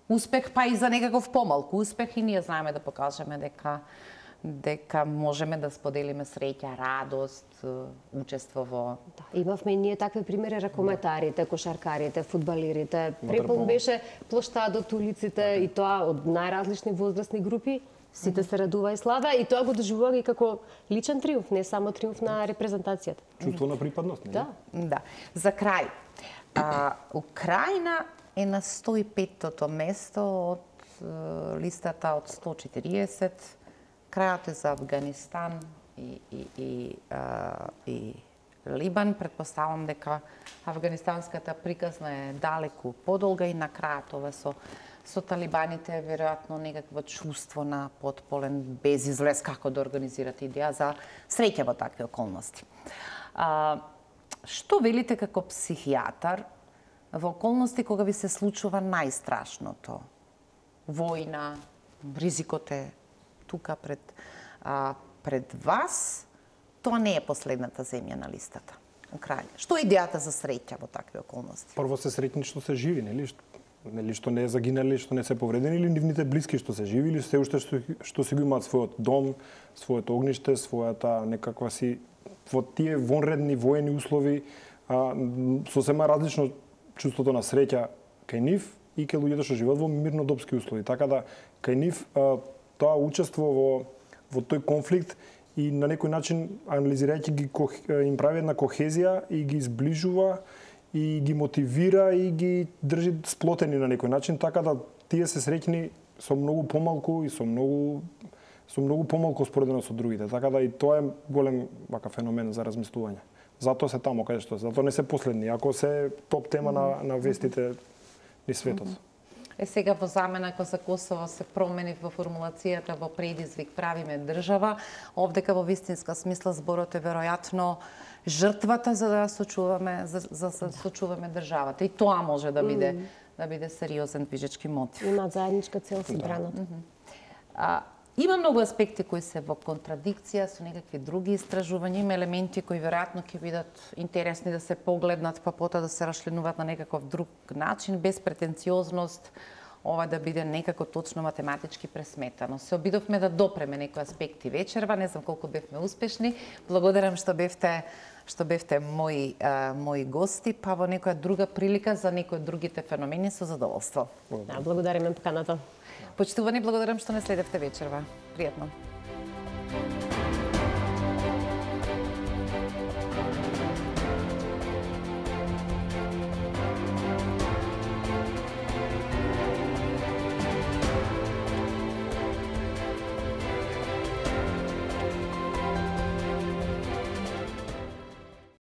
Speaker 1: успех, па и за некаков помалку успех, и ние знаеме да покажеме дека дека можеме да споделиме среќа, радост, учество во...
Speaker 2: Да, имавме и ние такви примери, ракометарите, кошаркарите, фудбалерите. Препон беше плоштадот, улиците и тоа од најразлични возрастни групи. Сите се радува и слава и тоа го доживува и како личен триумф, не само триумф на репрезентацијата.
Speaker 3: Чувство на припадност, не?
Speaker 2: Да.
Speaker 1: Да. За крај, а, Украина е на сто и петтото место од е, листата од сто и четириесет. Крајот е за Афганистан и, и, и, а, и Либан. Предпоставам дека афганистанската приказна е далеку подолга и на крајот ова со со талибаните е веројатно некакво чувство на потполен безизлез како да организирате идеја за среќа во такви околности. А, што велите како психијатар во околности кога ви се случува најстрашното? Војна, ризикот е тука пред, а, пред вас, тоа не е последната земја на листата. Украина. Што е идејата за среќа во такви околности?
Speaker 3: Прво се среќни што се живи, нели? Нели што не е загинали, што не се повредени, или нивните блиски што се живи, или се уште што, што си го имаат својот дом, своето огниште, својата некаква си во тие вонредни воени услови, а, сосема различно чувството на среќа кај нив и кај луѓето што живеат во мирнодопски услови. Така да кај нив а, тоа учество во во тој конфликт и на некој начин анализирајќи ги им прави една кохезија и ги изближува и ги мотивира и ги држи сплотени на некој начин, така да тие се среќни со многу помалку и со многу со многу помалку споредено со другите. Така да и тоа е голем вака феномен за размислување. Затоа се таму каде што се, затоа не се последни, ако се топ тема на на вестите низ светот.
Speaker 1: Е сега во замена кога за Косово се промени во формулацијата во предизвик правиме држава, овдека во вистинска смисла зборот е веројатно жртвата за да сочуваме за, за да сочуваме државата. И тоа може да биде mm. да биде сериозен движечки мотив.
Speaker 2: Имаат заедничка цел со одбраната.
Speaker 1: Да. А, има многу аспекти кои се во контрадикција со некакви други истражувања, има елементи кои веројатно ќе бидат интересни да се погледнат, па потоа да се расчленуваат на некаков друг начин, без претенциозност, ова да биде некако точно математички пресметано. Се обидовме да допреме некои аспекти вечерва, не знам колку бевме успешни. Благодарам што бевте што бевте мои а, мои гости, па во некоја друга прилика за некои од другите феномени со задоволство.
Speaker 2: Да, благодариме поканата.
Speaker 1: Почитувани, благодарам што не следевте вечерва. Пријатно.